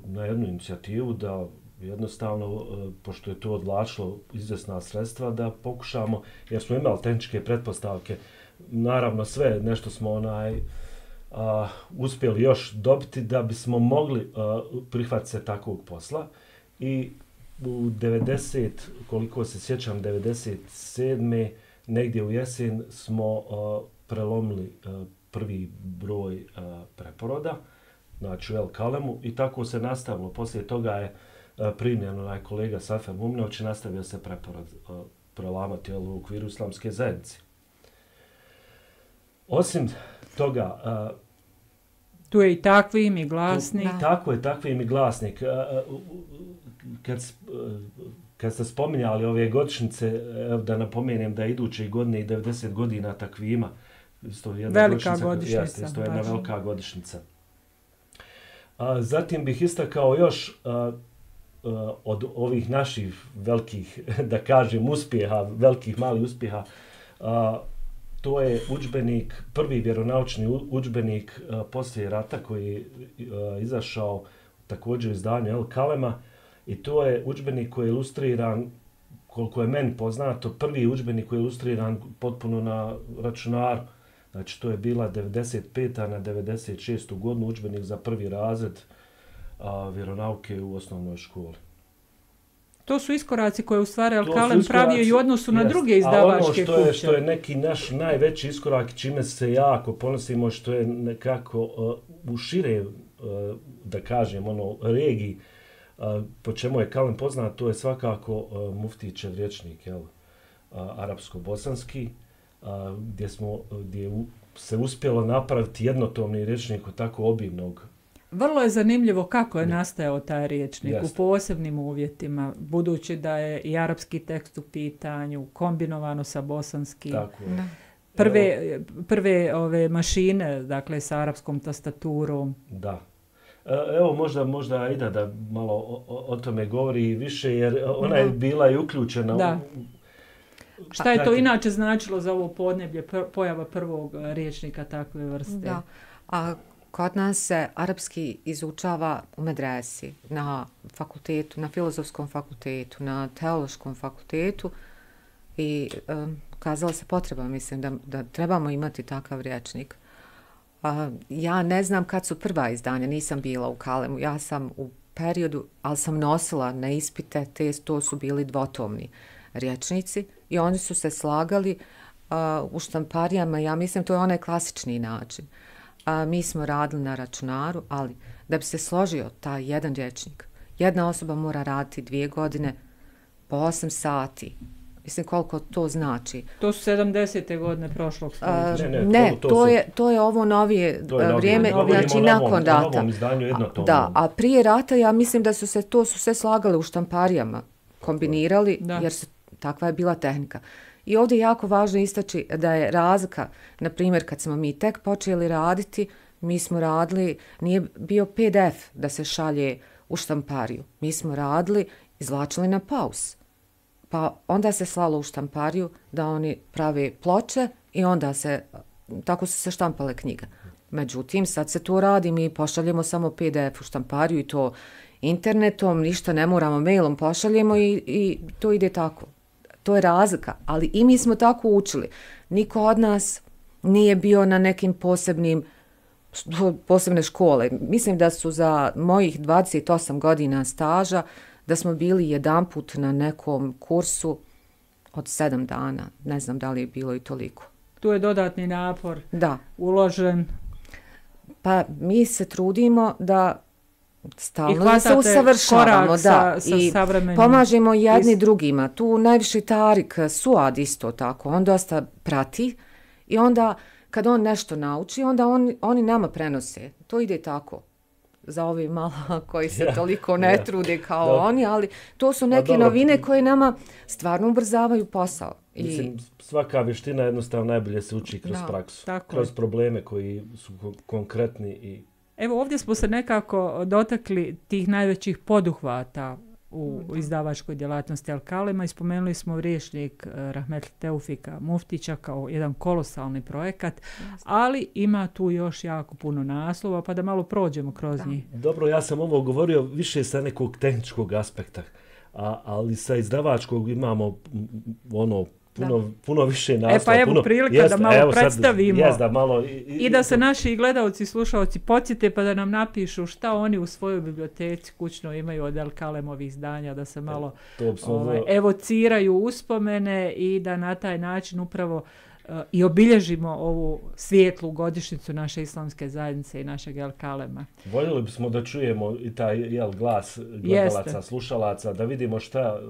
na jednu inicijativu da jednostavno, pošto je to odvlačilo izvjesna sredstva, da pokušamo, jer smo imali tehničke pretpostavke, naravno sve nešto smo onaj a, uspjeli još dobiti da bismo mogli a, prihvatiti se takvog posla. I u devedeset, koliko se sjećam, devedeset sedme negdje u jesen smo a, prelomili a, prvi broj a, preporoda, znači u El Kalemu, i tako se nastavilo. Poslije toga je primljen onaj kolega Safer Mumnović i nastavio se preporod uh, prelamati u okviru islamske zajednice. Osim toga... Uh, tu je i takvim i glasnik. Tu, tako je, takvim i glasnik. Uh, uh, kad, uh, kad ste spominjali ove godišnjice, uh, da napomenem da iduće godine i devedeset godina takvima. Isto jedna velika godišnjica. godišnjica. Jeste, isto jedna velika godišnjica. Uh, zatim bih istakao još... Uh, Uh, od ovih naših velikih, da kažem, uspjeha, velikih malih uspjeha, uh, to je udžbenik, prvi vjeronaučni udžbenik uh, poslije rata koji je uh, izašao također u izdanju El Kalema, i to je udžbenik koji je ilustriran, koliko je meni poznato, prvi udžbenik koji je ilustriran potpuno na računaru. Znači to je bila devedeset peta na devedeset šestu godinu udžbenik za prvi razred a, vjeronauke u osnovnoj školi. To su iskoraci koje u stvari Al-Kalem pravio i u odnosu na jest. druge izdavačke kuće. A ono što je, što je neki naš najveći iskorak, čime se jako ponosimo, što je nekako uh, u šire, uh, da kažem, ono, regiji, uh, po čemu je Kalem poznat, to je svakako uh, Muftićev rječnik, jel? Uh, arapsko-bosanski, uh, gdje, smo, gdje u, se uspjelo napraviti jednotomni rječnik od tako obimnog. Vrlo je zanimljivo kako je nastajao taj rječnik Jeste. u posebnim uvjetima, budući da je i arapski tekst u pitanju, kombinovano sa bosanskim. Tako je. Prve, prve ove mašine, dakle, sa arapskom tastaturom. Da. Evo, možda, možda Aida da malo o, o tome govori više, jer ona je bila i uključena. Da. U... Šta je to inače značilo za ovo podneblje, pojava prvog rječnika takve vrste? Da. A kod nas se arapski izučava u medresi, na fakultetu, na filozofskom fakultetu, na teološkom fakultetu i um, kazala se potreba, mislim, da, da trebamo imati takav rječnik. Uh, ja ne znam kad su prva izdanja, nisam bila u Kalemu, ja sam u periodu, ali sam nosila na ispite, te, to su bili dvotomni rječnici i oni su se slagali uh, u štamparijama, ja mislim, to je onaj klasični način. A, mi smo radili na računaru, ali da bi se složio taj jedan rječnik, jedna osoba mora raditi dvije godine po osam sati. Mislim, koliko to znači. To su sedamdesete godine prošlog stoljeća. Ne, ne, ne, to, to, to, je, to je ovo novije to je vrijeme, novi, znači nakon rata. Novom izdanju jednotomnom. Da, a prije rata ja mislim da su se to su sve slagali u štamparijama, kombinirali, da. Jer su, takva je bila tehnika. I ovdje je jako važno istaći da je razlika, na primjer, kad smo mi tek počeli raditi, mi smo radili, nije bio P D F da se šalje u štampariju. Mi smo radili, izvlačili na paus. Pa onda se slalo u štampariju da oni prave ploče i onda se, tako su se štampale knjige. Međutim, sad se to radi, mi pošaljemo samo P D F u štampariju i to internetom, ništa ne moramo, mailom pošaljemo i, i to ide tako. To je razlika, ali i mi smo tako učili. Niko od nas nije bio na nekim posebnim, posebne škole. Mislim da su za mojih dvadeset osam godina staža, da smo bili jedanput na nekom kursu od sedam dana. Ne znam da li je bilo i toliko. Tu je dodatni napor da. uložen. Pa mi se trudimo da stalno da se usavršavamo, da, sa, i sa pomažemo jedni drugima. Tu najviše Tarik Suad isto tako, on dosta prati i onda kad on nešto nauči, onda on, oni nama prenose. To ide tako za ove malo koji se ja, toliko ne ja. trude kao da. oni, ali to su neke novine koje nama stvarno ubrzavaju posao. I... Mislim, svaka vještina jednostavno najbolje se uči kroz da, praksu, tako kroz je. probleme koji su konkretni i Evo ovdje smo se nekako dotakli tih najvećih poduhvata u mm. izdavačkoj djelatnosti Al-Kalema i spomenuli smo rječnik Rahmetli Teufika Muftića kao jedan kolosalni projekat, yes. ali ima tu još jako puno naslova, pa da malo prođemo kroz da. njih. Dobro, ja sam ovo govorio više sa nekog tehničkog aspekta, a, ali sa izdavačkog imamo ono puno, puno više naslova. E pa evo puno, prilika jest, da malo evo predstavimo sad, jest, da malo, i, i, i da se naši gledalci i slušalci podsjete pa da nam napišu šta oni u svojoj biblioteci kućno imaju od Al-Kalemovih izdanja, da se malo ovaj, evociraju uspomene i da na taj način upravo uh, i obilježimo ovu svijetlu godišnjicu naše islamske zajednice i našeg Al-Kalema. Voljeli bismo da čujemo i taj jel, glas gledalaca, Jeste. slušalaca, da vidimo šta...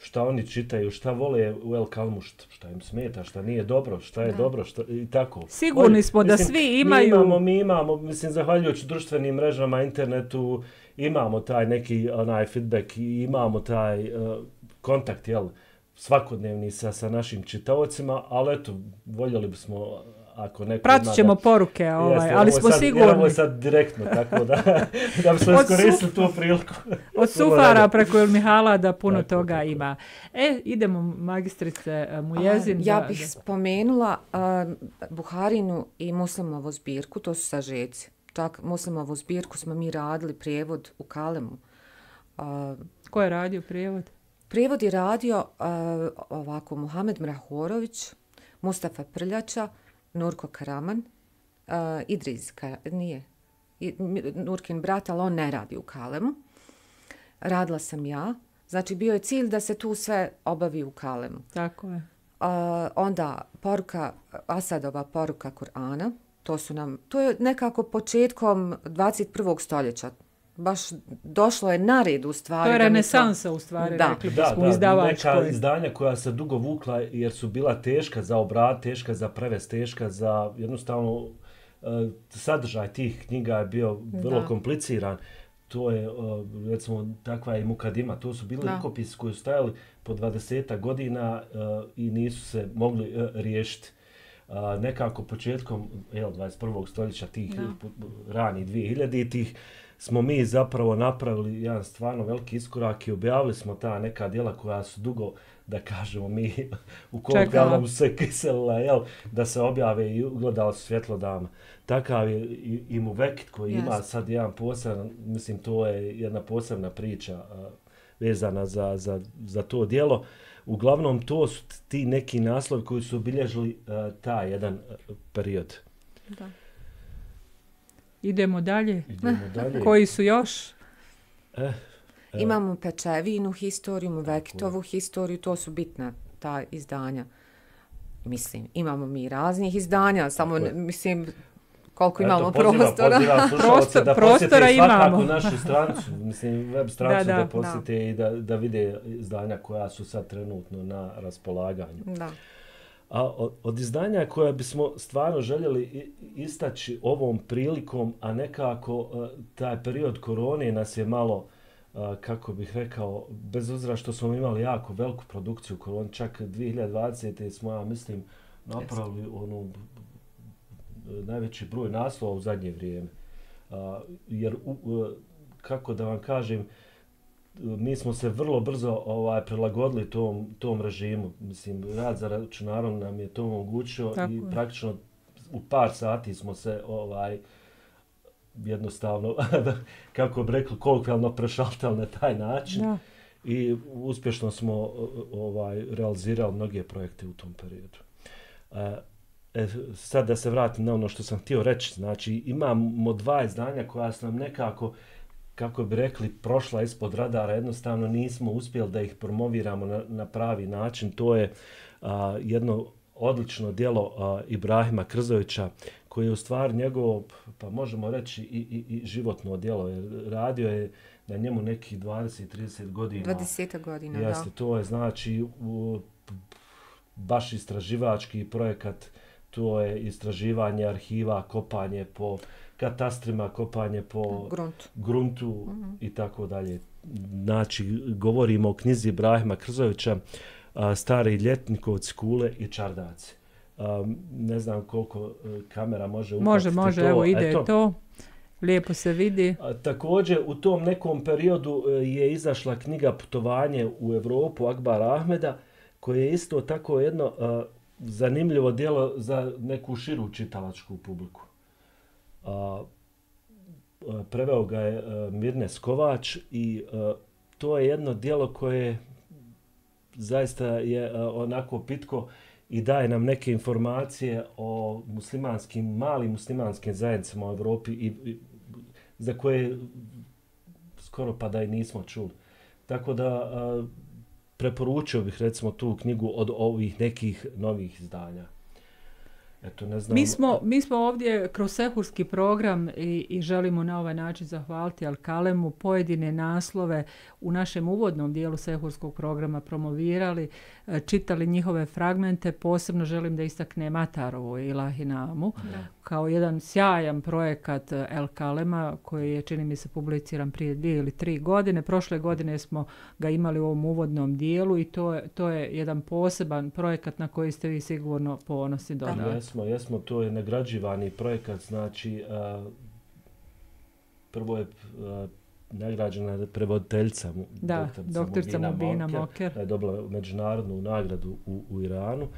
šta oni čitaju, šta vole u Al-Kalemu, šta, šta im smeta, šta nije dobro, šta je da. dobro, šta, i tako. Sigurni smo Oni, da mislim, svi imaju... Mi imamo, mi imamo, mislim, zahvaljujući društvenim mrežama, internetu, imamo taj neki onaj feedback i imamo taj uh, kontakt, jel, svakodnevni sa, sa našim čitaocima, ali eto, voljeli bismo... Ako neko Pratit ćemo da, poruke, ovaj, jeste, ali smo sad, sigurni. Ovo je sad direktno, tako da, da bismo iskoristili tu priliku. Od Sufara preko Mihala da puno tako, toga tako. ima. E, idemo, magistrice Mujezin. A, ja bih da, spomenula uh, Buharinu i Muslimovu zbirku, to su sažeci. Tak, Muslimovu zbirku smo mi radili prijevod u Kalemu. Uh, Ko je radio prijevod? Prijevod je radio uh, ovako Muhamed Mrahorović, Mustafa Prljača, Nurko Karaman, uh, Idriz, Kar, nije, I, Nurkin brat, ali on ne radi u Kalemu. Radila sam ja, Znači, bio je cilj da se tu sve obavi u Kalemu. Tako je. Uh, onda poruka, Asadova poruka Kur'ana, to su nam, to je nekako početkom dvadeset prvog stoljeća. Baš došlo je na red u stvari. To je renesansa u stvari, da. rekli da, bismo da, izdavačkoj. Neka izdanja koja se dugo vukla jer su bila teška za obrat, teška za prevest, teška za jednostavno uh, sadržaj tih knjiga je bio vrlo da. kompliciran. To je, uh, recimo, takva i Mukadima. To su bili rukopisi koji su stajali po dvadeset godina uh, i nisu se mogli uh, riješiti. Uh, nekako početkom jel, dvadeset prvog stoljeća tih rani dvije hiljaditih smo mi zapravo napravili jedan stvarno veliki iskorak i objavili smo ta neka djela koja su dugo, da kažemo mi, u kolokvijalnom se kiselila, jel, da se objave i ugledali su svjetlo dana. Takav je i, i Muvekit koji yes. ima sad jedan poseban, mislim to je jedna posebna priča uh, vezana za, za, za to djelo. Uglavnom to su ti neki naslovi koji su obilježili uh, taj jedan uh, period. Da. Idemo dalje. Idemo dalje. Koji su još? Eh, eh. Imamo Pečevinu historiju, Muvekitovu historiju, to su bitna ta izdanja. Mislim, imamo mi raznih izdanja, samo ne, mislim koliko Eto, imamo poziva, prostora. Pozivam slušalce da posjete svakako našu stranicu, mislim web stranicu da, da, da posjete da. i da, da vide izdanja koja su sad trenutno na raspolaganju. Da. A od, od izdanja koje bismo stvarno željeli istaći ovom prilikom, a nekako uh, taj period korone nas je malo, uh, kako bih rekao, bez obzira što smo imali jako veliku produkciju korone, čak dvije hiljade dvadesete smo, ja mislim, napravili yes. onu najveći broj naslova u zadnje vrijeme. Uh, jer, uh, kako da vam kažem, mi smo se vrlo brzo ovaj prilagodili tom tom režimu. Mislim, rad za računarom nam je to omogućio i je. praktično u par sati smo se ovaj jednostavno, kako bi rekli, kolokvijalno prešaltali na taj način. Da. I uspješno smo ovaj realizirali mnoge projekte u tom periodu. E, sad da se vratim na ono što sam htio reći. Znači, imamo dva izdanja koja su nam nekako, kako bi rekli, prošla ispod radara, jednostavno nismo uspjeli da ih promoviramo na, na pravi način. To je a, jedno odlično djelo a, Ibrahima Krzovića, koji je u stvari njegov, pa možemo reći, i, i, i životno djelo. Jer radio je na njemu nekih dvadeset trideset godina. dvadeset godina, Jeste, da. to je znači u, baš istraživački projekat, to je istraživanje arhiva, kopanje po katastrima, kopanje po gruntu, gruntu mm-hmm. i tako dalje. Znači, govorimo o knjizi Ibrahima Krzovića, a, Stari Ljetnikovci, Kule i Čardaci. A, ne znam koliko a, kamera može upatiti može, može, to. Evo ide Eto, to. Lijepo se vidi. A, također, u tom nekom periodu a, je izašla knjiga Putovanje u Evropu Akbara Ahmeda, koje je isto tako jedno a, zanimljivo djelo za neku širu čitalačku publiku. A, preveo ga je a, Mirnes Kovač i a, to je jedno djelo koje zaista je a, onako pitko i daje nam neke informacije o muslimanskim, malim muslimanskim zajednicama u Evropi i, i za koje skoro pa da i nismo čuli. Tako da a, preporučio bih recimo tu knjigu od ovih nekih novih izdanja. Eto, ne znam. Mi smo, mi smo ovdje kroz sehurski program i, i želimo na ovaj način zahvaliti Al-Kalemu pojedine naslove u našem uvodnom dijelu sehurskog programa promovirali, čitali njihove fragmente. Posebno želim da istaknem Atarovu Ilahinamu da. kao jedan sjajan projekat Al-Kalema koji je, čini mi se, publiciran prije dvije ili tri godine. Prošle godine smo ga imali u ovom uvodnom dijelu i to je, to je jedan poseban projekat na koji ste vi sigurno ponosni dodali. Jesmo, jesmo, to je nagrađivani projekat, znači a, prvo je a, nagrađena prevoditeljica da, doktorica Mubina Moker, da je dobila međunarodnu nagradu u, u Iranu,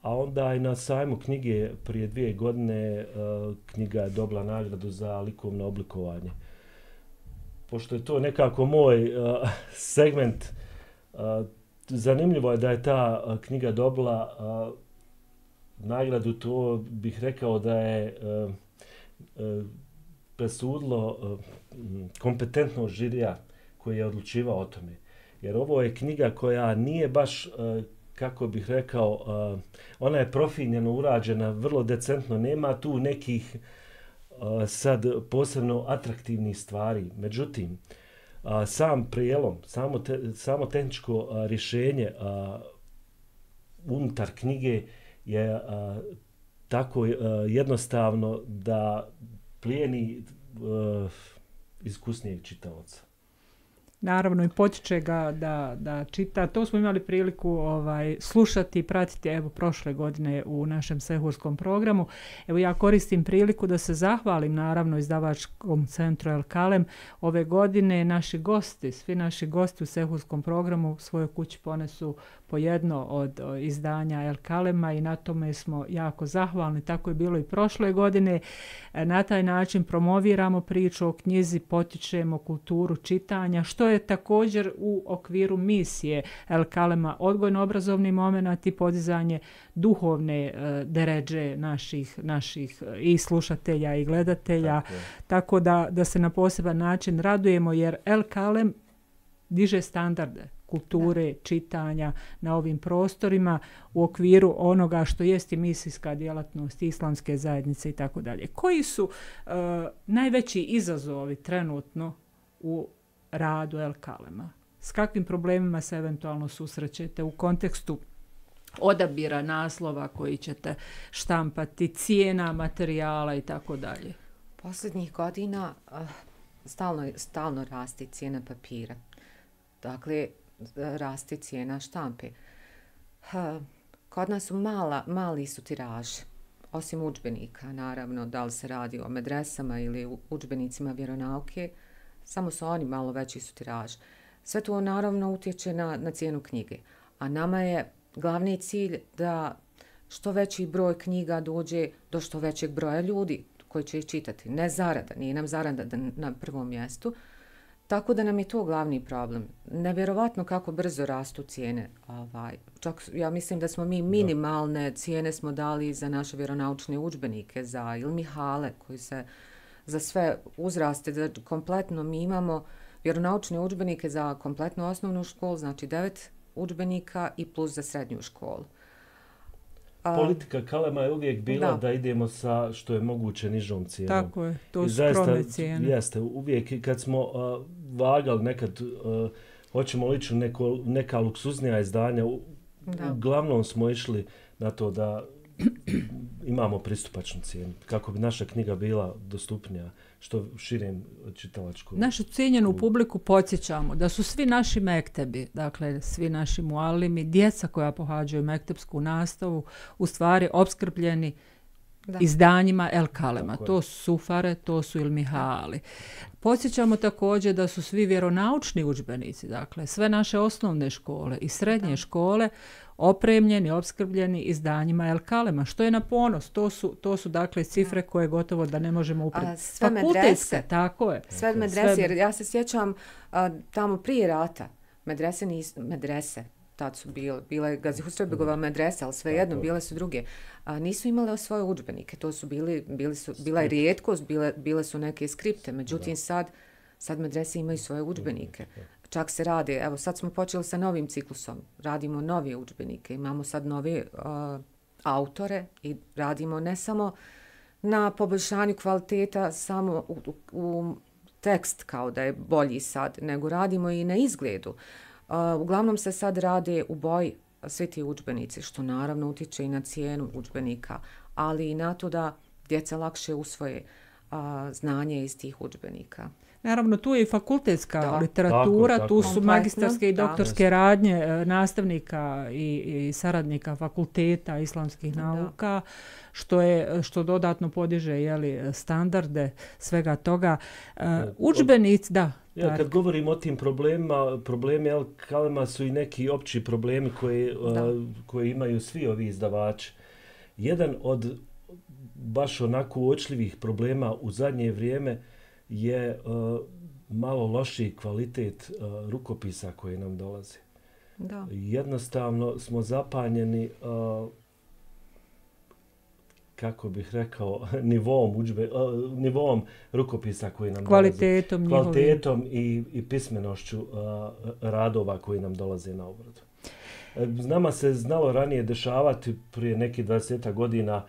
a onda i na sajmu knjige prije dvije godine a, knjiga je dobila nagradu za likovno oblikovanje. Pošto je to nekako moj a, segment, a, zanimljivo je da je ta a, knjiga dobila a, nagradu, to bih rekao da je uh, uh, presudilo uh, kompetentno žirija koji je odlučivao o tome. jer ovo je knjiga koja nije baš, kako bih rekao, ona je profinjeno urađena, vrlo decentno, nema tu nekih sad posebno atraktivnih stvari. Međutim, sam prijelom, samo, te, samo tehničko rješenje unutar knjige je tako jednostavno da plijeni iskusnijeg čitaoca. Naravno i potiče ga da, da čita. To smo imali priliku ovaj, slušati i pratiti evo prošle godine u našem sehurskom programu. Evo ja koristim priliku da se zahvalim naravno izdavačkom centru El Kalem. Ove godine naši gosti, svi naši gosti u sehurskom programu svojoj kući ponesu po jedno od izdanja El Kalema i na tome smo jako zahvalni. Tako je bilo i prošle godine. Na taj način promoviramo priču o knjizi, potičemo kulturu čitanja, što je također u okviru misije El Kalema odgojno-obrazovni moment i podizanje duhovne uh, deređe naših, naših i slušatelja i gledatelja. Tako, tako da, da se na poseban način radujemo jer El Kalem diže standarde kulture, da. čitanja na ovim prostorima u okviru onoga što jest i misijska djelatnost islamske zajednice i tako dalje. Koji su uh, najveći izazovi trenutno u radu El Kalema? S kakvim problemima se eventualno susrećete u kontekstu odabira naslova koji ćete štampati, cijena materijala i tako dalje? Posljednjih godina uh, stalno, stalno rasti cijena papira. Dakle, rasti cijena štampe. Uh, kod nas su mala, mali su tiraži. Osim udžbenika, naravno, da li se radi o medresama ili udžbenicima vjeronauke, samo su oni malo veći su tiraž. Sve to naravno utječe na, na cijenu knjige. A nama je glavni cilj da što veći broj knjiga dođe do što većeg broja ljudi koji će ih čitati. Ne zarada, nije nam zarada na prvom mjestu. Tako da nam je to glavni problem. Nevjerovatno kako brzo rastu cijene. Ovaj, čak ja mislim da smo mi minimalne cijene smo dali za naše vjeronaučne udžbenike, za ilmihale koji se za sve uzraste, da kompletno mi imamo vjeronaučne udžbenike za kompletnu osnovnu školu, znači devet udžbenika i plus za srednju školu. Politika Kalema je uvijek bila da. da idemo sa što je moguće nižom cijenom. Tako je, to su skromne cijene. Jeste, uvijek kad smo uh, vagali nekad, uh, hoćemo lići neko, neka luksuznija izdanja, u, uglavnom smo išli na to da imamo pristupačnu cijenu, kako bi naša knjiga bila dostupnija što širem čitalačkom. Našu cijenjenu publiku podsjećamo da su svi naši mektebi, dakle svi naši mualimi, djeca koja pohađaju mektepsku nastavu, u stvari opskrbljeni da. izdanjima El Kalema. To su sufare, to su ilmihali. Podsjećamo također da su svi vjeronaučni udžbenici, dakle sve naše osnovne škole i srednje da. škole opremljeni, opskrbljeni izdanjima El Kalema, što je na ponos. To su, to su dakle cifre koje gotovo da ne možemo upraviti. Sve medrese. Tako je. Sve medrese, jer ja se sjećam a, tamo prije rata, medrese, nis, medrese tad su bile, bila je Gazi Husrebegova medresa, ali svejedno, bile su druge. A, nisu imale svoje udžbenike, to su bili, bili su, bila je rijetkost, bile, bile su neke skripte, međutim sad, sad medrese imaju svoje udžbenike. Čak se radi, evo sad smo počeli sa novim ciklusom, radimo nove udžbenike, imamo sad nove uh, autore i radimo ne samo na poboljšanju kvaliteta samo u, u, u tekst kao da je bolji sad, nego radimo i na izgledu. Uh, uglavnom se sad rade u boji svi ti udžbenici, što naravno utječe i na cijenu udžbenika, ali i na to da djeca lakše usvoje uh, znanje iz tih udžbenika. Naravno, tu je i fakultetska da, literatura, tako, tako. Tu su magistarske i doktorske da. radnje nastavnika i, i saradnika fakulteta islamskih da. nauka, što je što dodatno podiže jeli, standarde svega toga. Uh, udžbenici, da. Ja, kad govorimo o tim problemima, problemi El Kalema su i neki opći problemi koji, uh, koji imaju svi ovi izdavači. Jedan od baš onako uočljivih problema u zadnje vrijeme je uh, malo lošiji kvalitet uh, rukopisa koji nam dolaze. Da. Jednostavno smo zapanjeni uh, kako bih rekao, nivom, udžbe, nivom rukopisa koji nam kvalitetom, dolaze. Kvalitetom i, i pismenošću a, radova koji nam dolaze na obradu. Nama se znalo ranije dešavati, prije nekih dvadeset godina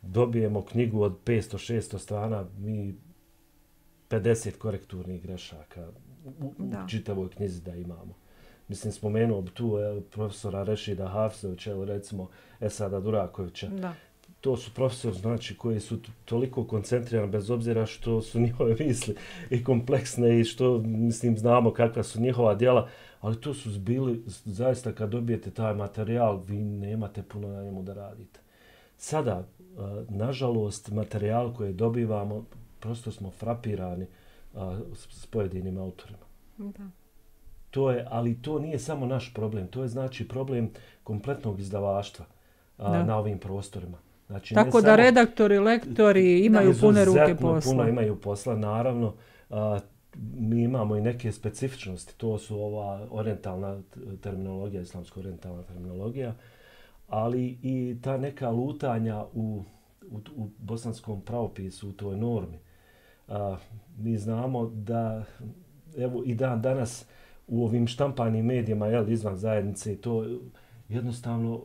dobijemo knjigu od petsto šesto strana, mi pedeset korekturnih grešaka u, u čitavoj knjizi da imamo. Mislim, spomenuo bi tu el, profesora Rešida Hafzovića, recimo Esada Durakovića. Da. To su profesori, znači, koji su toliko koncentrirani, bez obzira što su njihove misli i kompleksne i što, mislim, znamo kakva su njihova djela, ali to su zbili, zaista kad dobijete taj materijal, vi nemate puno na njemu da radite. Sada, nažalost, materijal koji dobivamo, prosto smo frapirani s pojedinim autorima. Da. To je, ali to nije samo naš problem, to je znači problem kompletnog izdavaštva a, na ovim prostorima. Znači, tako da samo, redaktori, lektori imaju pune ruke posla. Puno imaju posla, naravno. A, mi imamo i neke specifičnosti, to su ova orijentalna terminologija, islamsko-orijentalna terminologija, ali i ta neka lutanja u, u, u bosanskom pravopisu, u toj normi. A, mi znamo da, evo i dan danas, u ovim štampanim medijima, jel, izvan zajednice, to jednostavno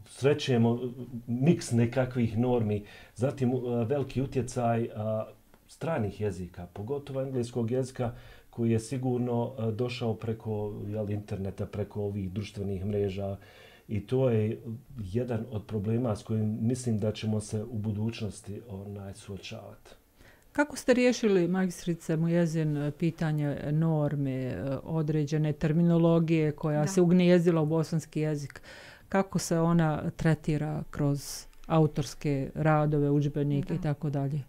srećemo miks nekakvih normi, zatim veliki utjecaj a, stranih jezika, pogotovo engleskog jezika koji je sigurno a, došao preko jel, interneta, preko ovih društvenih mreža i to je jedan od problema s kojim mislim da ćemo se u budućnosti onaj, suočavati. Kako ste riješili, magistrice Mujezin, pitanje norme, određene terminologije koja da. se ugnijezdila u bosanski jezik? Kako se ona tretira kroz autorske radove, udžbenike i tako dalje?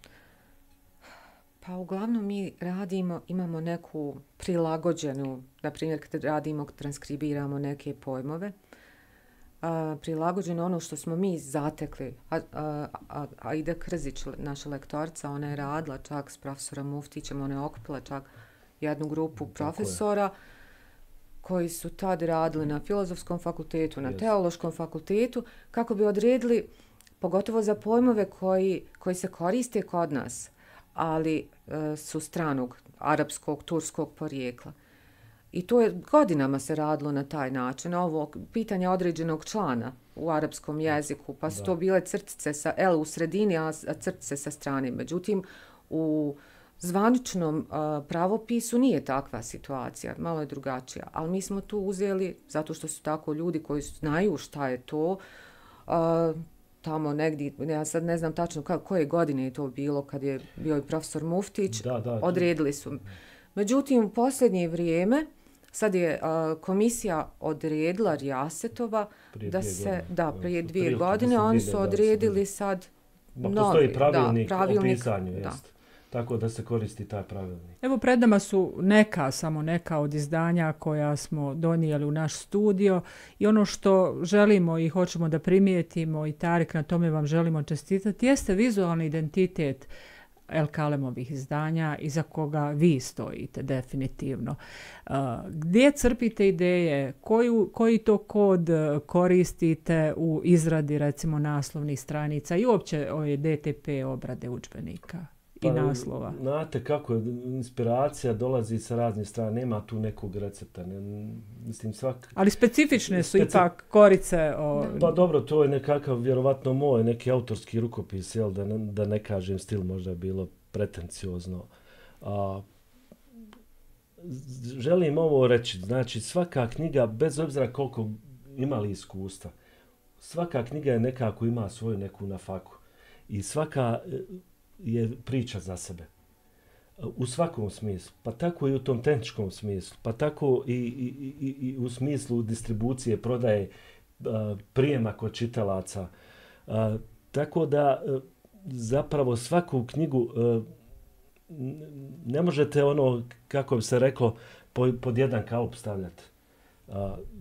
Pa uglavnom mi radimo, imamo neku prilagođenu, na primjer kad radimo, transkribiramo neke pojmove, a, prilagođeno ono što smo mi zatekli. A, a, a, Aida Krzić, naša lektorica, ona je radila čak s profesorom Muftićem, ona je okupila čak jednu grupu profesora koji su tad radili na filozofskom fakultetu, na yes. teološkom fakultetu, kako bi odredili, pogotovo za pojmove koji, koji se koriste kod nas, ali e, su stranog, arapskog, turskog porijekla. I to je godinama se radilo na taj način, ovo pitanje određenog člana u arapskom jeziku, pa su da. to bile crtice sa L u sredini, a crtice sa strane. Međutim, u zvaničnom uh, pravopisu nije takva situacija, malo je drugačija. Ali mi smo tu uzeli, zato što su tako ljudi koji znaju šta je to, uh, tamo negdje, ja sad ne znam tačno ka, koje godine je to bilo, kad je bio i profesor Muftić, da, da, odredili su. Međutim, u posljednje vrijeme, sad je uh, komisija odredila Rijasetova da se, godine. da, prije dvije Prije, godine, oni su odredili sad Ma, novi, postoji pravilnik, da, pravilnik o pisanju, da. Jest. Tako da se koristi taj pravilnik. Evo, pred nama su neka, samo neka od izdanja koja smo donijeli u naš studio i ono što želimo i hoćemo da primijetimo i Tarik, na tome vam želimo čestitati, jeste vizualni identitet El Kalemovih izdanja iza koga vi stojite definitivno. Uh, gdje crpite ideje, koju, koji to kod koristite u izradi recimo naslovnih stranica i uopće ove D T P obrade udžbenika i pa, naslova? Znate kako je, inspiracija dolazi sa raznih strana, nema tu nekog recepta. Ne, mislim, svak... Ali specifične su Speci... ipak korice. O... Pa dobro, to je nekakav, vjerovatno moj, neki autorski rukopis, jel, da, ne, da ne kažem stil, možda je bilo pretenciozno. A, želim ovo reći, znači svaka knjiga, bez obzira koliko imali iskustva, svaka knjiga je nekako ima svoju neku nafaku i svaka je priča za sebe. U svakom smislu, pa tako i u tom tehničkom smislu, pa tako i, i, i, i u smislu distribucije, prodaje, prijema kod čitalaca. Tako da zapravo svaku knjigu ne možete ono, kako bi se reklo, pod jedan kalup stavljati.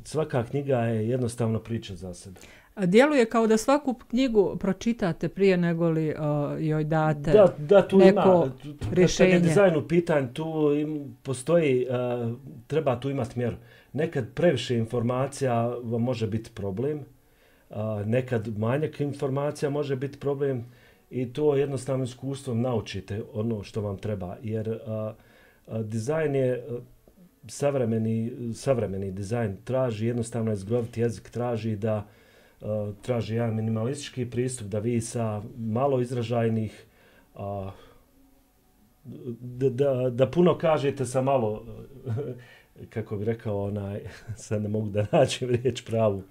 Svaka knjiga je jednostavno priča za sebe. Djeluje kao da svaku knjigu pročitate prije nego li uh, joj date da, da, tu neko ima, rješenje. Kad je dizajn u pitanju, tu im postoji, uh, treba tu imati mjeru. Nekad previše informacija vam može biti problem, a, nekad manjak informacija može biti problem i to jednostavno iskustvom naučite ono što vam treba. Jer a, a, dizajn je savremeni, savremeni dizajn traži jednostavno izgroviti jezik, traži da a, traži jedan minimalistički pristup, da vi sa malo izražajnih a, Da, da, da puno kažete sa malo, kako bi rekao, onaj, sad ne mogu da nađem riječ pravu.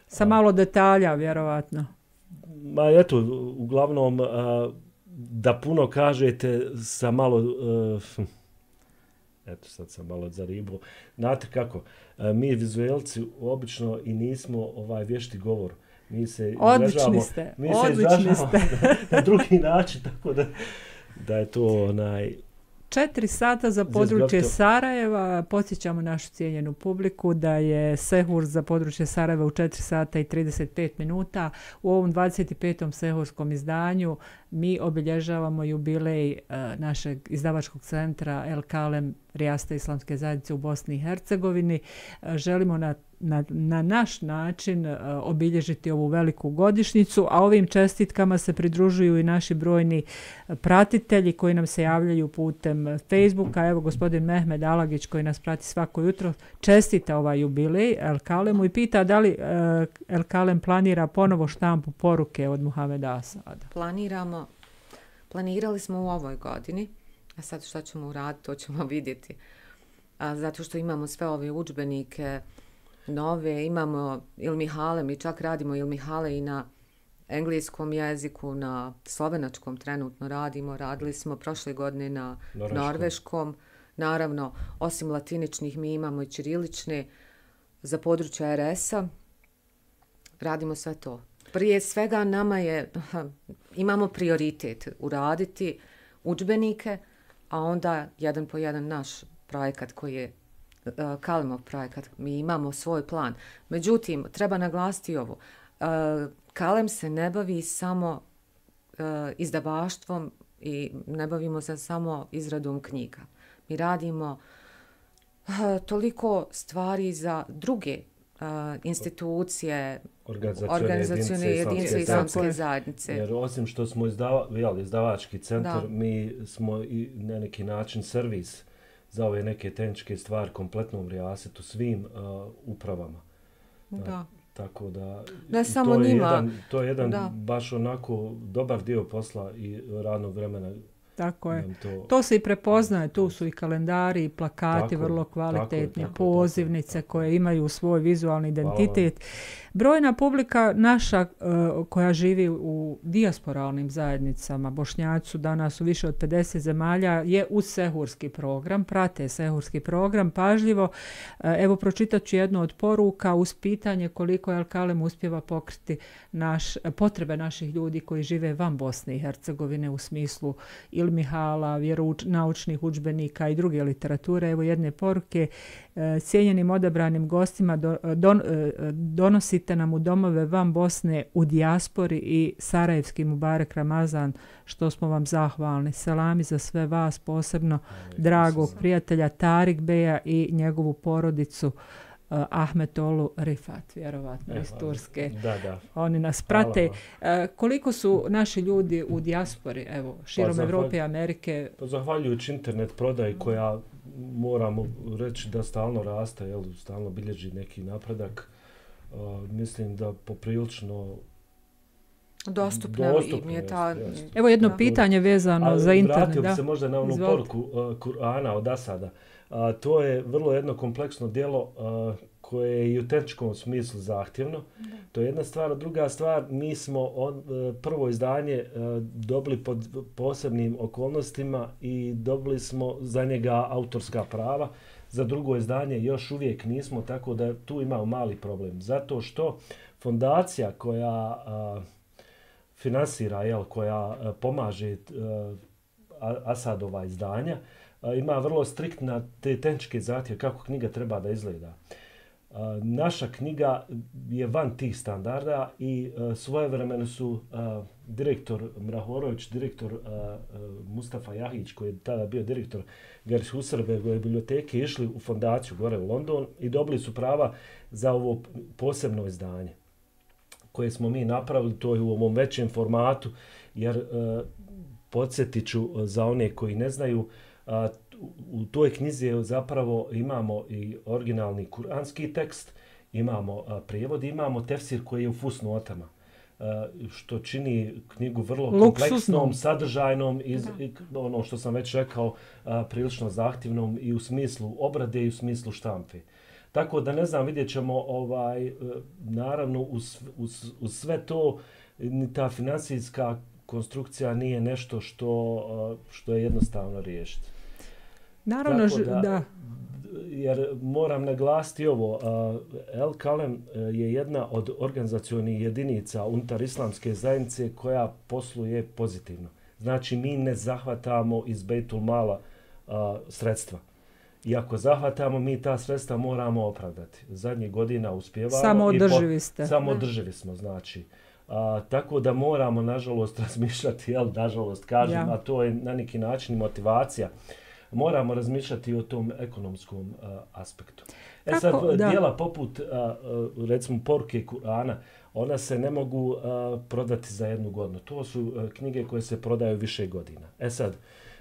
Sa malo detalja, vjerovatno. Ma eto, uglavnom, da puno kažete sa malo, eto sad sam malo zaribuo. Znate kako, mi vizuelci obično i nismo ovaj vješti govor. Mi se odlični ste, mi odlični se ste. na, na drugi način, tako da da je to onaj... Četiri sata za područje Sarajeva. Podsjećamo našu cijenjenu publiku da je Sehur za područje Sarajeva u četiri sata i trideset pet minuta. U ovom dvadeset petom sehurskom izdanju mi obilježavamo jubilej uh, našeg izdavačkog centra El Kalem Rijaste islamske zajednice u Bosni i Hercegovini. Uh, želimo na Na, na naš način uh, obilježiti ovu veliku godišnjicu, a ovim čestitkama se pridružuju i naši brojni pratitelji koji nam se javljaju putem Facebooka. Evo gospodin Mehmed Alagić koji nas prati svako jutro čestita ovaj jubilej El Kalemu i pita da li uh, El Kalem planira ponovo štampu poruke od Muhameda Asada. Planiramo, planirali smo u ovoj godini, a sad šta ćemo uraditi, to ćemo vidjeti. A, zato što imamo sve ove udžbenike nove, imamo Ilmihale, mi čak radimo Ilmihale i na engleskom jeziku, na slovenačkom trenutno radimo, radili smo prošle godine na norveškom. norveškom. Naravno, osim latiničnih mi imamo i ćirilične za područje R S-a, radimo sve to. Prije svega nama je, imamo prioritet uraditi udžbenike, a onda jedan po jedan naš projekat koji je Kalemov projekat, mi imamo svoj plan. Međutim, treba naglasiti ovo. Kalem se ne bavi samo izdavaštvom i ne bavimo se samo izradom knjiga. Mi radimo toliko stvari za druge institucije, organizacione jedinice islamske zajednice. Jer osim što smo izdava, jel, izdavački centar, da. Mi smo i na neki način servis za ove neke tehničke stvari kompletnom rijasetu svim uh, upravama. Da. Da. Tako da ne samo to je njima. jedan, to je jedan da. baš onako dobar dio posla i radnog vremena. Tako je. To, to se i prepoznaje, tu su i kalendari i plakati tako, vrlo kvalitetni, tako, pozivnice tako, tako. koje imaju svoj vizualni identitet. Brojna publika naša uh, koja živi u dijasporalnim zajednicama, Bošnjaci su danas u više od pedeset zemalja, je uz sehurski program, prate sehurski program pažljivo. Uh, evo pročitat ću jednu od poruka uz pitanje koliko El Kalem uspjeva pokriti naš, potrebe naših ljudi koji žive van Bosne i Hercegovine u smislu ilmihala, vjeronaučnih udžbenika i druge literature. Evo jedne poruke. Cijenjenim odabranim gostima do, don, donosite nam u domove van Bosne u dijaspori i Sarajevski Mubarek Ramazan, što smo vam zahvalni. Selami za sve vas, posebno dragog prijatelja Tarik Beja i njegovu porodicu Uh, Ahmet Olu Rifat, vjerovatno, iz Turske. Da, da. Oni nas prate. Uh, koliko su naši ljudi u dijaspori, evo, širom pa Evrope i Amerike? Pa zahvaljujući internet prodaji koja, moramo reći da stalno raste, jel, stalno bilježi neki napredak, uh, mislim da poprilično dostupno im je ta... Jest. Evo jedno da. pitanje vezano ali za internet. Vratio bi da? se možda na onu Izvolite. poruku uh, Kur'ana od Asada. Uh, to je vrlo jedno kompleksno djelo uh, koje je i u tehničkom smislu zahtjevno. Da. To je jedna stvar. Druga stvar, mi smo on, uh, prvo izdanje uh, dobili pod posebnim okolnostima i dobili smo za njega autorska prava. Za drugo izdanje još uvijek nismo, tako da tu imamo mali problem. Zato što fondacija koja uh, finansira, jel, koja uh, pomaže uh, Asadova izdanja, uh, ima vrlo striktna te tehničke zahtjeve kako knjiga treba da izgleda. Uh, naša knjiga je van tih standarda i uh, svojevremeno su uh, direktor Mrahorović, direktor uh, uh, Mustafa Jahić, koji je tada bio direktor Gers Husarbergove biblioteke, išli u fondaciju gore u London i dobili su prava za ovo posebno izdanje. koje smo mi napravili, to je u ovom većem formatu, jer e, podsjetit ću za one koji ne znaju, a, u toj knjizi zapravo imamo i originalni kuranski tekst, imamo a, prijevod, imamo tefsir koji je u fusnotama, a, što čini knjigu vrlo kompleksnom, sadržajnom i, i ono što sam već rekao, a, prilično zahtjevnom i u smislu obrade i u smislu štampe. Tako da ne znam, vidjet ćemo, ovaj, naravno uz, uz, uz sve to ni ta financijska konstrukcija nije nešto što, što je jednostavno riješiti. Naravno, da, da. Jer moram naglasiti ovo, El Kalem je jedna od organizacionih jedinica unutar islamske zajednice koja posluje pozitivno. Znači, mi ne zahvatamo iz Bejtul Mala sredstva. I ako zahvatamo, mi ta sredstva moramo opravdati. Zadnjih godina uspjevamo. Samo održivi ste. Samo održivi smo, znači. A, tako da moramo, nažalost, razmišljati, jel, nažalost, kažem, ja. A to je na neki način motivacija. Moramo razmišljati o tom ekonomskom a, aspektu. E Kako? sad, da. Dijela poput, a, a, recimo, poruke Kur'ana, ona se ne mogu a, prodati za jednu godinu. To su a, knjige koje se prodaju više godina. E sad,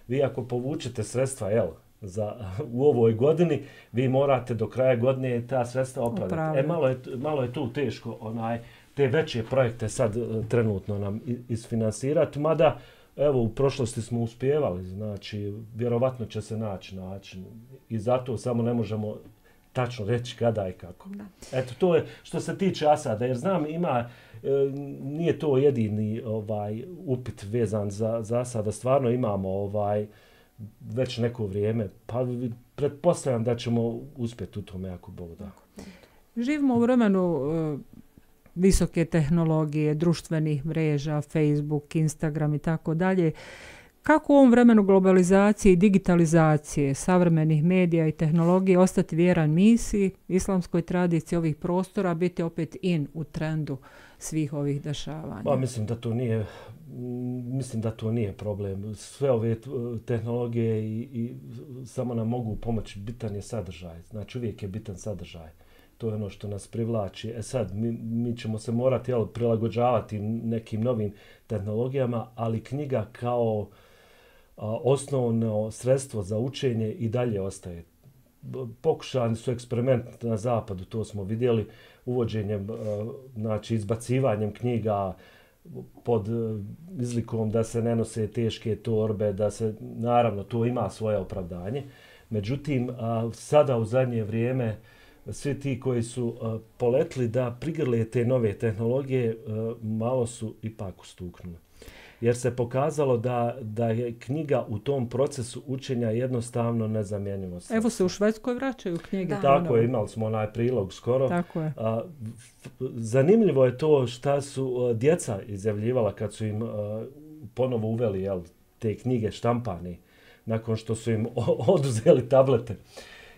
vi ako povučete sredstva, jel, za, u ovoj godini, vi morate do kraja godine ta sredstva opravdati. Upravo. E, malo je, malo je tu teško onaj, te veće projekte sad uh, trenutno nam isfinansirati, mada evo u prošlosti smo uspjevali, znači vjerovatno će se naći način i zato samo ne možemo tačno reći kada i kako. Da. Eto, to je što se tiče Asada, jer znam ima, e, nije to jedini ovaj upit vezan za, za Asada, stvarno imamo ovaj već neko vrijeme, pa pretpostavljam da ćemo uspjeti u tome ako Bog da. Živimo u vremenu uh, visoke tehnologije, društvenih mreža, Facebook, Instagram i tako dalje. Kako u ovom vremenu globalizacije i digitalizacije savremenih medija i tehnologije ostati vjeran misiji, islamskoj tradiciji ovih prostora, biti opet in u trendu svih ovih dešavanja? Pa, mislim da to nije mislim da to nije problem. Sve ove tehnologije i, i samo nam mogu pomoći, bitan je sadržaj. Znači uvijek je bitan sadržaj. To je ono što nas privlači. E sad, mi, mi ćemo se morati jel, prilagođavati nekim novim tehnologijama, ali knjiga kao a, osnovno sredstvo za učenje i dalje ostaje. Pokušani su eksperimenti na zapadu, to smo vidjeli, uvođenjem, a, znači izbacivanjem knjiga pod izlikom da se ne nose teške torbe, da se, naravno, to ima svoje opravdanje. Međutim, a, sada u zadnje vrijeme svi ti koji su a, poletli da prigrle te nove tehnologije, a, malo su ipak ustuknuli. Jer se pokazalo da, da je knjiga u tom procesu učenja jednostavno nezamjenjivo. Evo se u Švedskoj vraćaju knjige. Da. Tako je, imali smo onaj prilog skoro. Tako je. A, zanimljivo je to šta su a, djeca izjavljivala kad su im a, ponovo uveli jel, te knjige štampane, nakon što su im oduzeli tablete.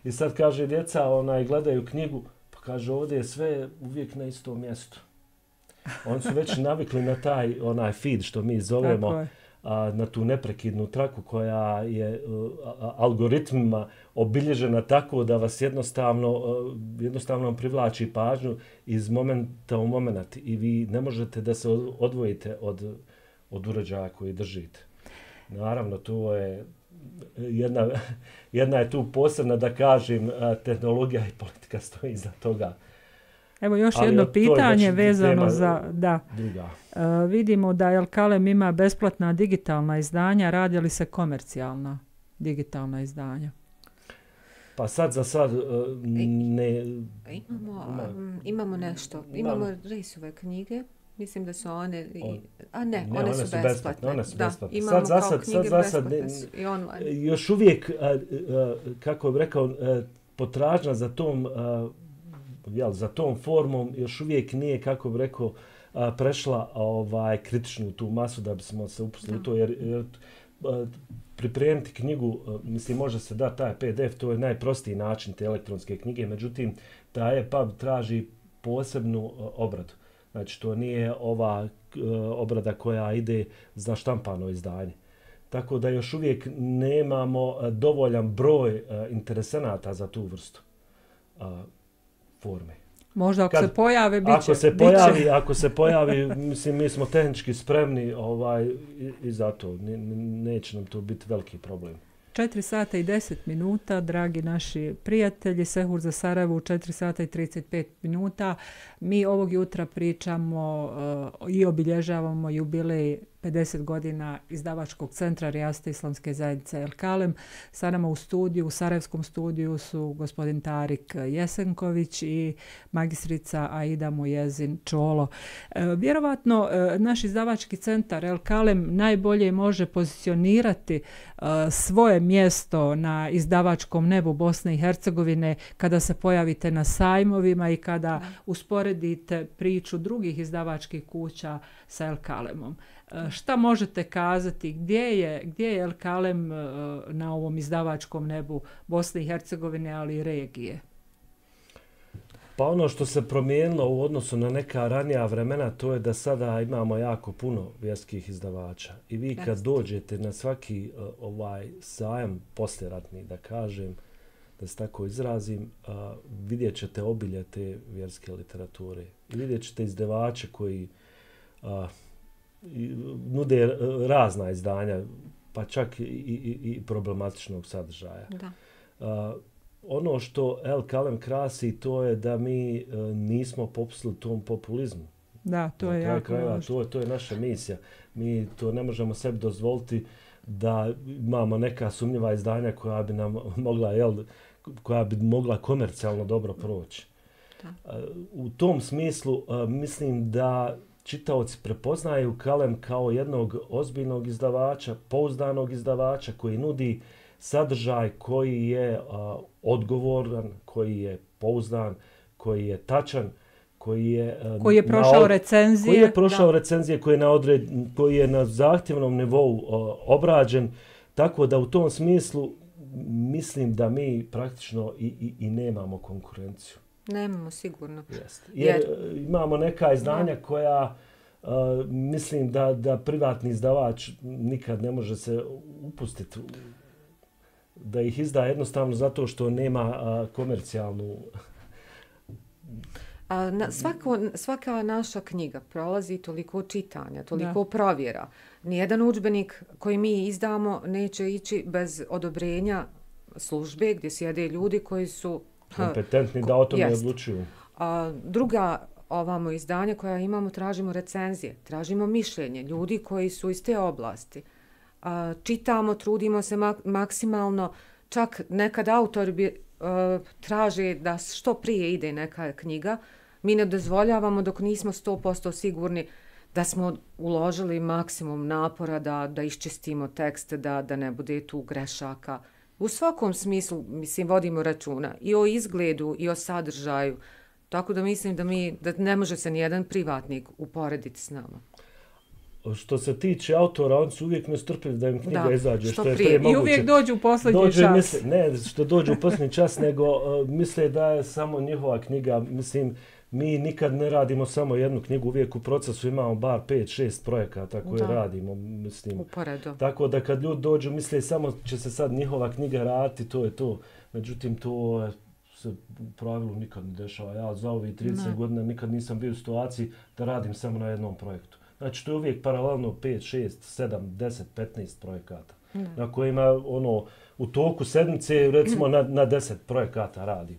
I sad kaže djeca, onaj, gledaju knjigu, pa kaže ovdje je sve uvijek na istom mjestu. Oni su već navikli na taj onaj feed što mi zovemo, a, na tu neprekidnu traku koja je a, algoritmima obilježena tako da vas jednostavno, a, jednostavno privlači pažnju iz momenta u moment i vi ne možete da se odvojite od, od uređaja koji držite. Naravno, to je jedna, jedna je tu posebna, da kažem, tehnologija i politika stoji iza toga. Evo još ali jedno pitanje vezano za... Da. Uh, vidimo da El Kalem ima besplatna digitalna izdanja. Radi li se komercijalna digitalna izdanja? Pa sad za sad uh, ne... Imamo, um, imamo nešto. Imamo Reisove knjige. Mislim da su one... I, a ne, ne, one, one su besplatne. besplatne. One su besplatne. Da, imamo sad, kao sad, knjige sad, besplatne ne, i online. Još uvijek, uh, uh, kako bih rekao, uh, potražnja za tom... Uh, jel, za tom formom još uvijek nije, kako bih rekao, a, prešla ovaj, kritičnu tu masu da bismo se upustili u to, jer, jer a, pripremiti knjigu, a, mislim, može se da taj P D F, to je najprostiji način te elektronske knjige, međutim, ta E P U B traži posebnu a, obradu. Znači, to nije ova a, obrada koja ide za štampano izdanje. Tako da još uvijek nemamo a, dovoljan broj a, interesenata za tu vrstu a, forme. Možda ako kad, se pojave, bit će. Ako se pojavi, ako se pojavi, mislim, mi smo tehnički spremni ovaj, i, i zato ne, neće nam to biti veliki problem. četiri sata i deset minuta, dragi naši prijatelji, Sehur za Sarajevo u četiri sata i trideset pet minuta. Mi ovog jutra pričamo uh, i obilježavamo jubilej pedeset godina izdavačkog centra Rijaste islamske zajednice El Kalem. Sa nama u studiju, u Sarajevskom studiju su gospodin Tarik Jesenković i magistrica Aida Mujezin Čolo. E, vjerovatno e, naš izdavački centar El Kalem najbolje može pozicionirati e, svoje mjesto na izdavačkom nebu Bosne i Hercegovine kada se pojavite na sajmovima i kada usporedite priču drugih izdavačkih kuća sa El Kalemom. Šta možete kazati, gdje je, gdje je El Kalem na ovom izdavačkom nebu Bosne i Hercegovine, ali i regije? Pa ono što se promijenilo u odnosu na neka ranija vremena, to je da sada imamo jako puno vjerskih izdavača. I vi kad dođete na svaki uh, ovaj sajam poslijeratni, da kažem, da se tako izrazim, uh, vidjet ćete obilje te vjerske literature. I vidjet ćete izdavače koji uh, nude razna izdanja, pa čak i, i, i problematičnog sadržaja. Da. Uh, ono što El Kalem krasi, to je da mi uh, nismo popustili tom populizmu. Da, to je jako krajeva, to, to je naša misija. Mi to ne možemo sebi dozvoliti da imamo neka sumnjiva izdanja koja bi nam mogla, jel, koja bi mogla komercijalno dobro proći. Da. Uh, u tom smislu uh, mislim da čitaoci prepoznaju Kalem kao jednog ozbiljnog izdavača, pouzdanog izdavača koji nudi sadržaj koji je a, odgovoran, koji je pouzdan, koji je tačan, koji je a, koji je prošao na, recenzije, koji je prošao da. recenzije, koji je na odred, koji je na zahtjevnom nivou a, obrađen, tako da u tom smislu mislim da mi praktično i, i, i nemamo konkurenciju. Nemamo sigurno. Jeste. Jer, Jer imamo neka izdanja ja. koja uh, mislim da, da privatni izdavač nikad ne može se upustiti da ih izda jednostavno zato što nema uh, komercijalnu... A, na, svako, svaka naša knjiga prolazi toliko čitanja, toliko da. provjera. Nijedan udžbenik koji mi izdamo neće ići bez odobrenja službe gdje sjede ljudi koji su kompetentni da o tome odlučuju. A, druga ovamo izdanja koja imamo, tražimo recenzije, tražimo mišljenje ljudi koji su iz te oblasti. A, čitamo, trudimo se mak- maksimalno, čak nekad autor bi, a, traže da što prije ide neka knjiga. Mi ne dozvoljavamo dok nismo sto posto sigurni da smo uložili maksimum napora da, da iščistimo tekst, da, da ne bude tu grešaka. U svakom smislu, mislim, vodimo računa i o izgledu i o sadržaju. Tako da mislim da mi da ne može se nijedan privatnik uporediti s nama. Što se tiče autora, oni su uvijek nestrpljivi da im knjiga da, izađe. Što, što je prije. prije moguće. I uvijek dođu u posljednji dođe, čas. Misle, ne, što dođu u posljednji čas, nego uh, misle da je samo njihova knjiga. Mislim, mi nikad ne radimo samo jednu knjigu, uvijek u procesu imamo bar pet šest projekata koje da. radimo. Mislim. Uporedo. Tako da kad ljudi dođu, misle samo će se sad njihova knjiga raditi, to je to. Međutim, to se u pravilu nikad ne dešava. Ja za ovih trideset ne. godina nikad nisam bio u situaciji da radim samo na jednom projektu. Znači, to je uvijek paralelno pet, šest, sedam, deset, petnaest projekata. Ne. Na kojima ono, u toku sedmice recimo na, na deset projekata radim.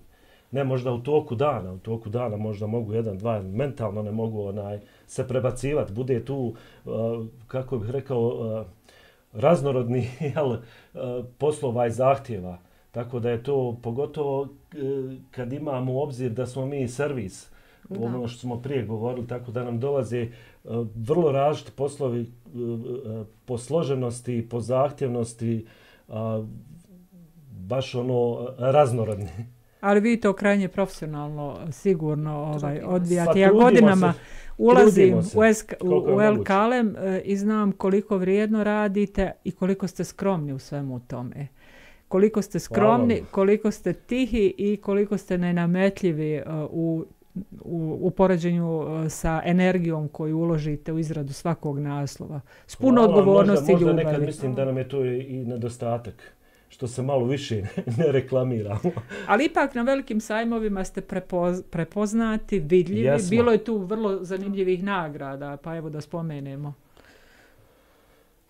Ne možda u toku dana, u toku dana možda mogu jedan, dva, mentalno ne mogu onaj, se prebacivati. Bude tu, uh, kako bih rekao, uh, raznorodni jel, uh, poslova i zahtjeva. Tako da je to pogotovo uh, kad imamo u obzir da smo mi servis, da. ono što smo prije govorili, tako da nam dolaze uh, vrlo različiti poslovi uh, uh, po složenosti, po zahtjevnosti, uh, baš ono raznorodni. Ali vi to krajnje profesionalno sigurno ovaj, odvijate. Pa, ja godinama se, ulazim u, esk, u, u El moguće. Kalem e, i znam koliko vrijedno radite i koliko ste skromni u svemu tome. Koliko ste skromni, Hvala. koliko ste tihi i koliko ste nenametljivi uh, u, u, u poređenju uh, sa energijom koju uložite u izradu svakog naslova. S puno Hvala, odgovornosti i ljubavi. Možda nekad mislim da nam je to i nedostatak. što se malo više ne reklamiramo. Ali ipak na velikim sajmovima ste prepoz, prepoznati, vidljivi. Jesmo. Bilo je tu vrlo zanimljivih nagrada, pa evo da spomenemo.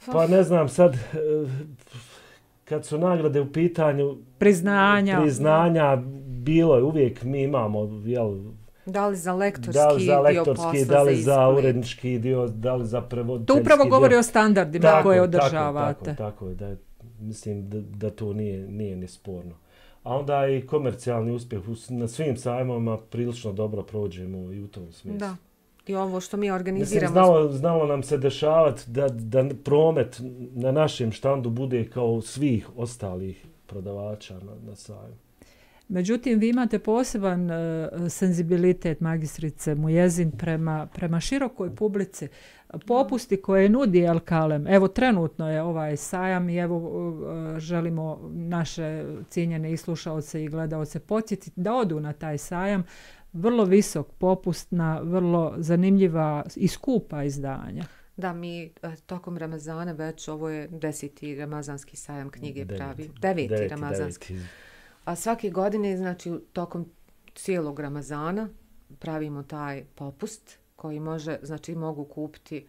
Pa ne znam sad, kad su nagrade u pitanju... Priznanja. Priznanja, bilo je uvijek, mi imamo, jel... Da li za lektorski, da li za lektorski dio posla, da li za, za urednički dio, da li za prevoditeljski dio. To upravo govori dio. o standardima tako, koje održavate. Tako, tako, tako da mislim da, da to nije, nije ni sporno. A onda i komercijalni uspjeh na svim sajmovima prilično dobro prođemo i u tom smislu. Da. I ovo što mi organiziramo... Mislim, znalo, znalo nam se dešavati da, da promet na našem štandu bude kao svih ostalih prodavača na, na sajmu. Međutim, vi imate poseban uh, senzibilitet, magistrice Mujezin, prema, prema širokoj publici. Popusti koje nudi El Kalem, evo trenutno je ovaj sajam i evo uh, želimo naše cijenjene i slušaoce i gledaoce podsjetiti da odu na taj sajam. Vrlo visok popust na vrlo zanimljiva i skupa izdanja. Da, mi tokom Ramazana već, ovo je deseti ramazanski sajam knjige Devet. pravi. Deveti, deveti ramazanski. Deveti. A svake godine, znači, tokom cijelog Ramazana pravimo taj popust koji može, znači, mogu kupiti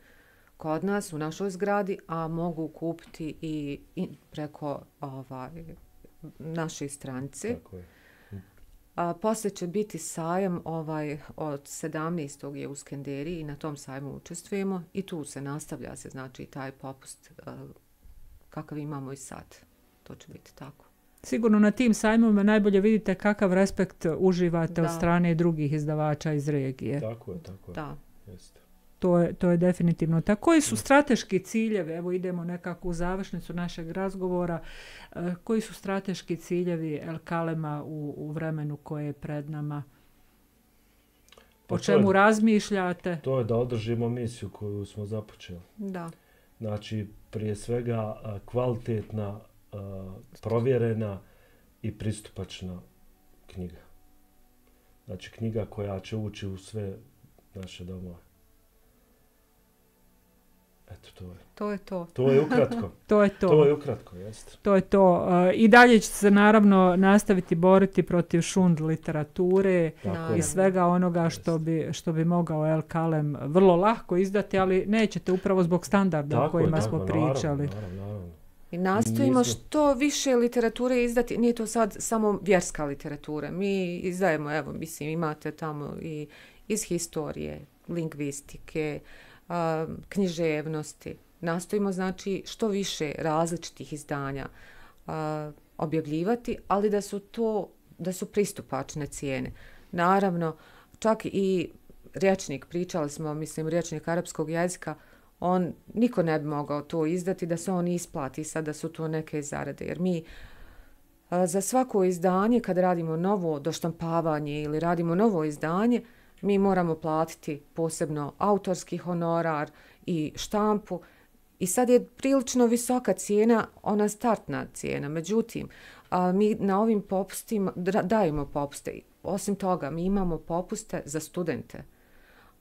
kod nas u našoj zgradi, a mogu kupiti i, i preko ovaj, naše stranice. Tako je. A poslije će biti sajam ovaj, od sedamnaestog je u Skenderiji i na tom sajmu učestvujemo i tu se nastavlja se, znači, taj popust uh, kakav imamo i sad. To će biti tako. Sigurno na tim sajmovima najbolje vidite kakav respekt uživate da. od strane drugih izdavača iz regije. Tako je, tako je. Da. Jeste. To je, to je definitivno tako. Koji su strateški ciljevi? Evo idemo nekako u završnicu našeg razgovora. E, koji su strateški ciljevi El Kalema u, u vremenu koje je pred nama? Pa o čemu je, razmišljate? To je da održimo misiju koju smo započeli. Da. Znači, prije svega kvalitetna, provjerena i pristupačna knjiga. Znači, knjiga koja će ući u sve naše domove. Eto, to je. To je to. To je ukratko. to je to. To je ukratko, jeste. To je to. I dalje će se naravno nastaviti boriti protiv šund literature i svega onoga što bi, što bi mogao El Kalem vrlo lahko izdati, ali nećete upravo zbog standarda tako o kojima je, smo tako, pričali. Naravno, naravno, naravno. I nastojimo što više literature izdati. Nije to sad samo vjerska literatura. Mi izdajemo, evo, mislim, imate tamo i iz historije, lingvistike, a, književnosti. Nastojimo, znači, što više različitih izdanja a, objavljivati, ali da su to, da su pristupačne cijene. Naravno, čak i rječnik, pričali smo, mislim, rječnik arapskog jezika, on, niko ne bi mogao to izdati da se on isplati sad da su to neke zarade. Jer mi a, za svako izdanje, kad radimo novo doštampavanje ili radimo novo izdanje, mi moramo platiti posebno autorski honorar i štampu. I sad je prilično visoka cijena, ona startna cijena. Međutim, a, mi na ovim popustima dajemo popuste. Osim toga, mi imamo popuste za studente.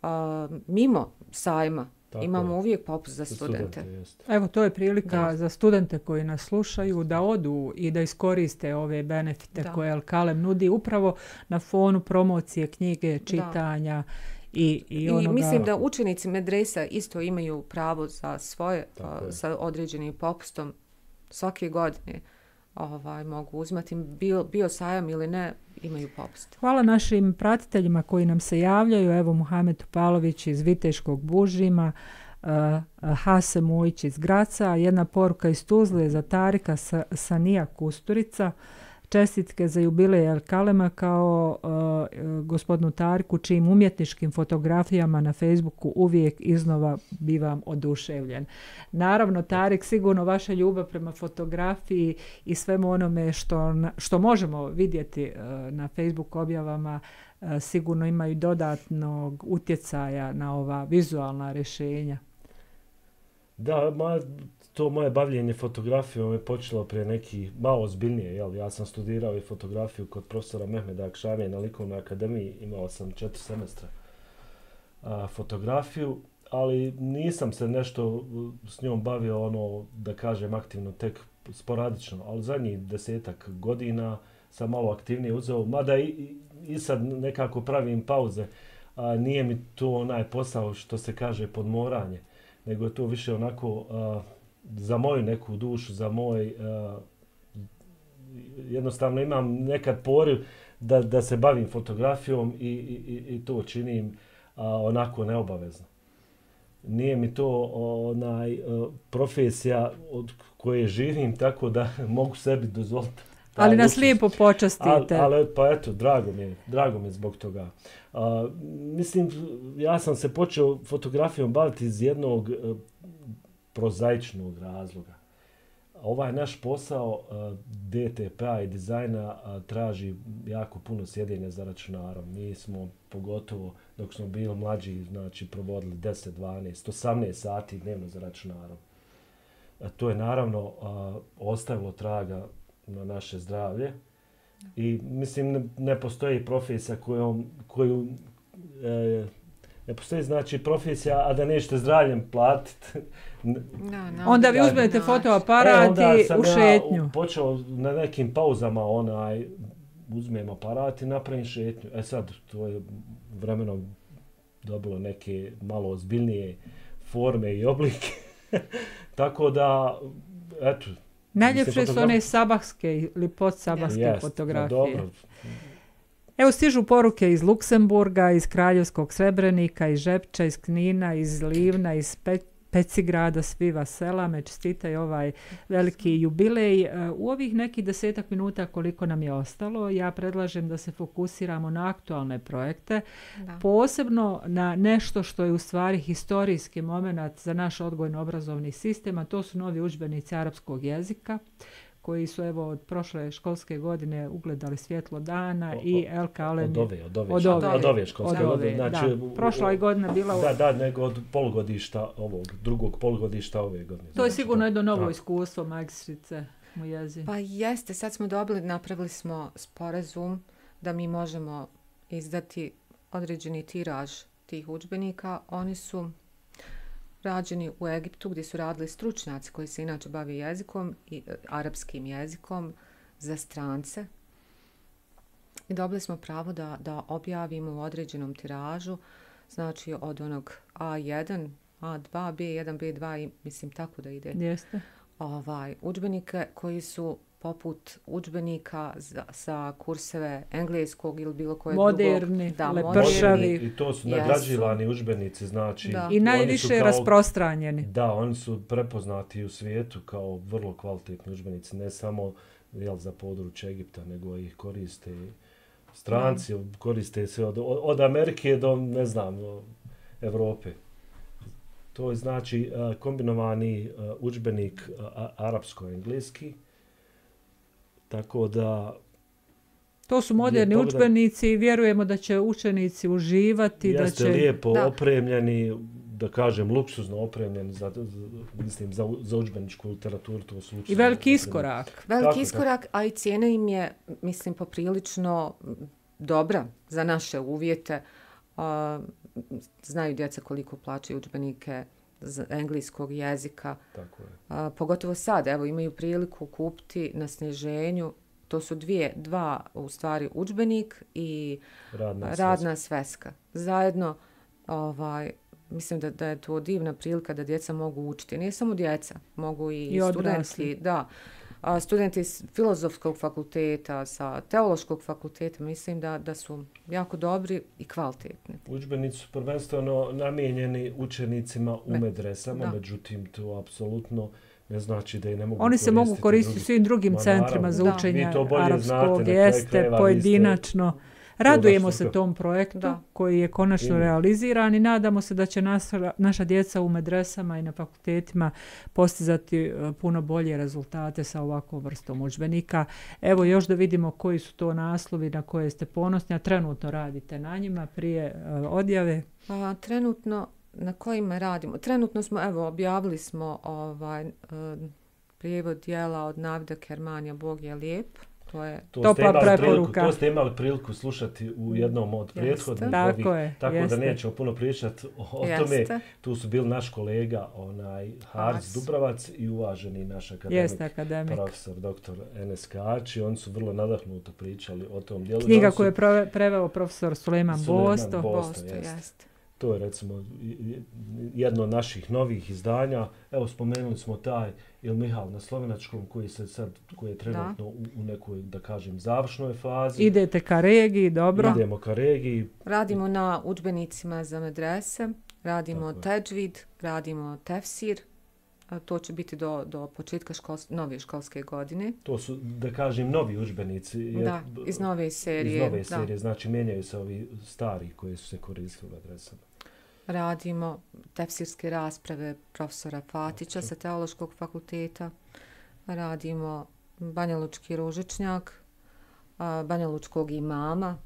A, mimo sajma tako imamo je. Uvijek popust za studente. studente Evo, to je prilika da. za studente koji nas slušaju da odu i da iskoriste ove benefite da. koje El Kalem nudi upravo na fonu promocije knjige, čitanja. Da. I, i, onoga... I mislim da učenici medresa isto imaju pravo za svoje a, sa određenim popustom svake godine ovaj, mogu uzmati. Bio, bio sajam ili ne, imaju popust. Hvala našim pratiteljima koji nam se javljaju. Evo Muhamed Topalović iz Viteškog Bužima, uh, Hase Mujić iz Graca, jedna poruka iz Tuzle za Tarika Sa, Sanija Kusturica. Čestitke za jubilej El Kalema kao uh, gospodinu Tariku, čijim umjetničkim fotografijama na Facebooku uvijek iznova bivam oduševljen. Naravno, Tarik, sigurno vaša ljubav prema fotografiji i svemu onome što, što možemo vidjeti uh, na Facebook objavama uh, sigurno imaju dodatnog utjecaja na ova vizualna rješenja. Da, ma, to moje bavljenje fotografijom je počelo prije neki malo ozbiljnije. Jel? Ja sam studirao i fotografiju kod profesora Mehmeda Akšamije na Likovnoj akademiji. Imao sam četiri semestra a, fotografiju, ali nisam se nešto s njom bavio, ono, da kažem, aktivno tek sporadično, ali zadnjih desetak godina sam malo aktivnije uzeo, mada i, i sad nekako pravim pauze, a nije mi to onaj posao što se kaže podmoranje, nego je to više onako a, za moju neku dušu, za moj, a, jednostavno imam nekad poriv da, da se bavim fotografijom i, i, i to činim a, onako neobavezno. Nije mi to onaj profesija od koje živim, tako da mogu sebi dozvoliti. Ali nas lijepo počastite. Ali, ali pa eto, drago mi je, drago mi je zbog toga. A, mislim, ja sam se počeo fotografijom baviti iz jednog a, prozaičnog razloga. Ovaj naš posao a, D T P-a i dizajna a, traži jako puno sjedenja za računarom. Mi smo pogotovo dok smo bili mlađi, znači provodili deset, dvanaest, osamnaest sati dnevno za računarom. A, to je naravno a, ostavilo traga na naše zdravlje i mislim ne, ne postoji profesija kojom, koju e, ne postoji znači profesija a da nećete zdravljem platiti. No, no, onda vi uzmete no, fotoaparat e, i u šetnju. Ja počeo na nekim pauzama onaj uzmem aparat i napravim šetnju. E sad to je vremenom dobilo neke malo ozbiljnije forme i oblike. Tako da eto. Najljepše su one sabahske ili podsabahske yes, fotografije. Dobro. Evo stižu poruke iz Luksemburga, iz Kraljevskog Srebrenika, iz Žepča, iz Knina, iz Livna, iz Pe- Pecigrada, svi vas sela, me čestitaju ovaj veliki jubilej. U ovih nekih desetak minuta koliko nam je ostalo, ja predlažem da se fokusiramo na aktualne projekte, da. Posebno na nešto što je u stvari historijski moment za naš odgojno-obrazovni sistem, a to su novi udžbenici arapskog jezika, koji su evo od prošle školske godine ugledali svjetlo dana o, o, i El Kalem. Od ove, od ove, od ove, od ove školske od ove, godine. Znači, da. Prošla je godina bila... Da, da, nego od polugodišta ovog, drugog polugodišta ove godine. To je sigurno jedno novo iskustvo magistrice u jezi. Pa jeste, sad smo dobili, napravili smo sporazum da mi možemo izdati određeni tiraž tih udžbenika. Oni su rađeni u Egiptu gdje su radili stručnjaci koji se inače bave jezikom i e, arapskim jezikom za strance. I dobili smo pravo da, da objavimo u određenom tiražu, znači od onog A jedan, A dva, B jedan, B dva i mislim tako da ide. Jeste. Ovaj, udžbenike koji su poput udžbenika za, sa kurseve engleskog ili bilo kojeg moderni, drugog. Da, lepršavi. I to su nagrađivani udžbenici, znači. Da. I najviše kao, rasprostranjeni. Da, oni su prepoznati u svijetu kao vrlo kvalitetni udžbenici, ne samo jel, za područje Egipta, nego ih koriste stranci, da. Koriste se od, od Amerike do, ne znam, Evrope. To je znači kombinovani udžbenik arapsko-engleski. Tako da... To su moderni udžbenici i vjerujemo da će učenici uživati. Jeste da će... lijepo da. Opremljeni, da kažem, luksuzno opremljeni za, za, mislim, za, za udžbeničku literaturu. To su I veliki iskorak. Veliki tako, iskorak, tako. A i cijena im je, mislim, poprilično dobra za naše uvjete. Uh, znaju djeca koliko plaćaju udžbenike z engleskog jezika. Tako je. A, pogotovo sad, evo, imaju priliku kupiti na sniženju. To su dvije, dva, u stvari, udžbenik i radna, radna sveska. Zajedno, ovaj, mislim da, da je to divna prilika da djeca mogu učiti. Nije samo djeca, mogu i, I studenti. Da, a, studenti s filozofskog fakulteta, sa teološkog fakulteta, mislim da, da su jako dobri i kvalitetni. Udžbenici su prvenstveno namijenjeni učenicima u medresama, međutim to apsolutno ne znači da i ne mogu Oni se mogu koristiti u svim drugim Ma, centrima za učenje arapskog, jeste, pojedinačno. Radujemo se tom projektu da. Koji je konačno Ima. realiziran i nadamo se da će naša, naša djeca u medresama i na fakultetima postizati puno bolje rezultate sa ovakvom vrstom udžbenika. Evo još da vidimo koji su to naslovi na koje ste ponosni, a trenutno radite na njima prije uh, odjave. A, trenutno na kojima radimo? Trenutno smo, evo, objavili smo ovaj, uh, prijevod dijela od Navida Kermanija Bog je lijep. to je to topla preporuka. Priliku, to ste imali priliku slušati u jednom od prethodnih tako ovih, je, tako jeste. da nećemo puno pričati o, o tome. Tu su bili naš kolega onaj Haris Dubravac i uvaženi naš akademik, jeste, akademik. profesor doktor Enes Kači. Oni su vrlo nadahnuto pričali o tom dijelu. Knjiga su, koju je preveo profesor Sulejman Bosto. Bosto, jeste. To je recimo jedno od naših novih izdanja. Evo spomenuli smo taj Il Mihal na slovenačkom koji se sad, koji je trenutno u, u nekoj, da kažem, završnoj fazi. Idete ka regiji, dobro. Idemo ka regiji. Radimo na udžbenicima za medrese, radimo Tako teđvid, radimo tefsir. A to će biti do, do početka škols, nove školske godine. To su, da kažem, novi udžbenici. Jer, da, iz nove serije. Iz nove da. serije, znači mijenjaju se ovi stari koji su se koristili u adresama. Radimo tefsirske rasprave profesora Fatića sa Teološkog fakulteta. Radimo Banja Lučki ružičnjak, Banja Lučkog imama.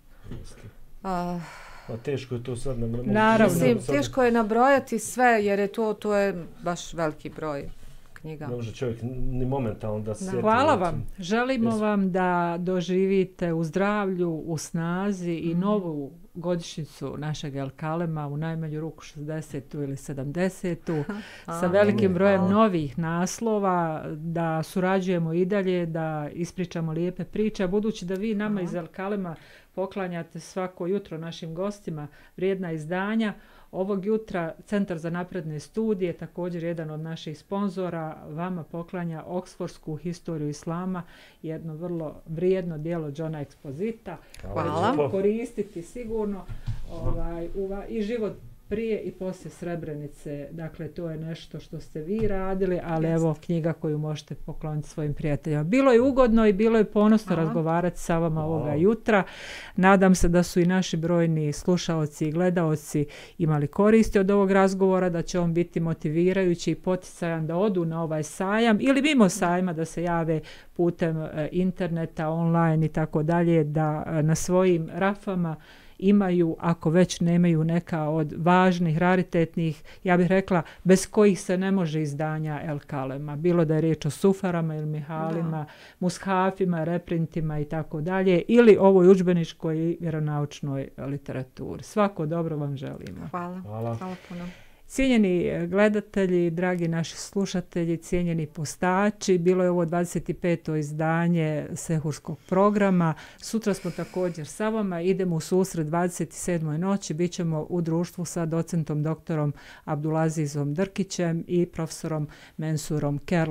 A, Pa teško je to sad nam... Naravno. Mislim, teško je nabrojati sve jer je to, to je baš veliki broj knjiga. Ne može čovjek ni momentalno da se sjeti. Hvala vam. Želimo Jesu. vam da doživite u zdravlju, u snazi i novu godišnjicu našeg El Kalema, u najmanju ruku šezdesetu ili sedamdesetu, sa velikim brojem novih naslova, da surađujemo i dalje, da ispričamo lijepe priče, budući da vi nama iz El Kalema poklanjate svako jutro našim gostima vrijedna izdanja. Ovog jutra Centar za napredne studije, također jedan od naših sponzora, vama poklanja Oksfordsku historiju islama, jedno vrlo vrijedno dijelo Johna Expozita. Hvala. Koristiti sigurno ovaj, uva, i život prije i poslije Srebrenice. Dakle, to je nešto što ste vi radili, ali Jest. evo knjiga koju možete pokloniti svojim prijateljima. Bilo je ugodno i bilo je ponosno Aha. razgovarati sa vama ovoga jutra. Nadam se da su i naši brojni slušaoci i gledaoci imali koristi od ovog razgovora, da će on biti motivirajući i poticajan da odu na ovaj sajam ili mimo sajma da se jave putem interneta, online i tako dalje, da na svojim rafama imaju, ako već nemaju neka od važnih, raritetnih, ja bih rekla, bez kojih se ne može izdanja El Kalema. Bilo da je riječ o sufarama ili mihalima, da. mushafima, reprintima i tako dalje, ili ovoj udžbeničkoj vjeronaučnoj literaturi. Svako dobro vam želimo. Hvala. Hvala. Hvala puno. Cijenjeni gledatelji, dragi naši slušatelji, cijenjeni postači, bilo je ovo dvadeset peto izdanje Sehurskog programa. Sutra smo također sa vama, idemo u susret dvadeset sedmoj noći, bit ćemo u društvu sa docentom doktorom Abdulazizom Drkićem i profesorom Mensurom Kerlom.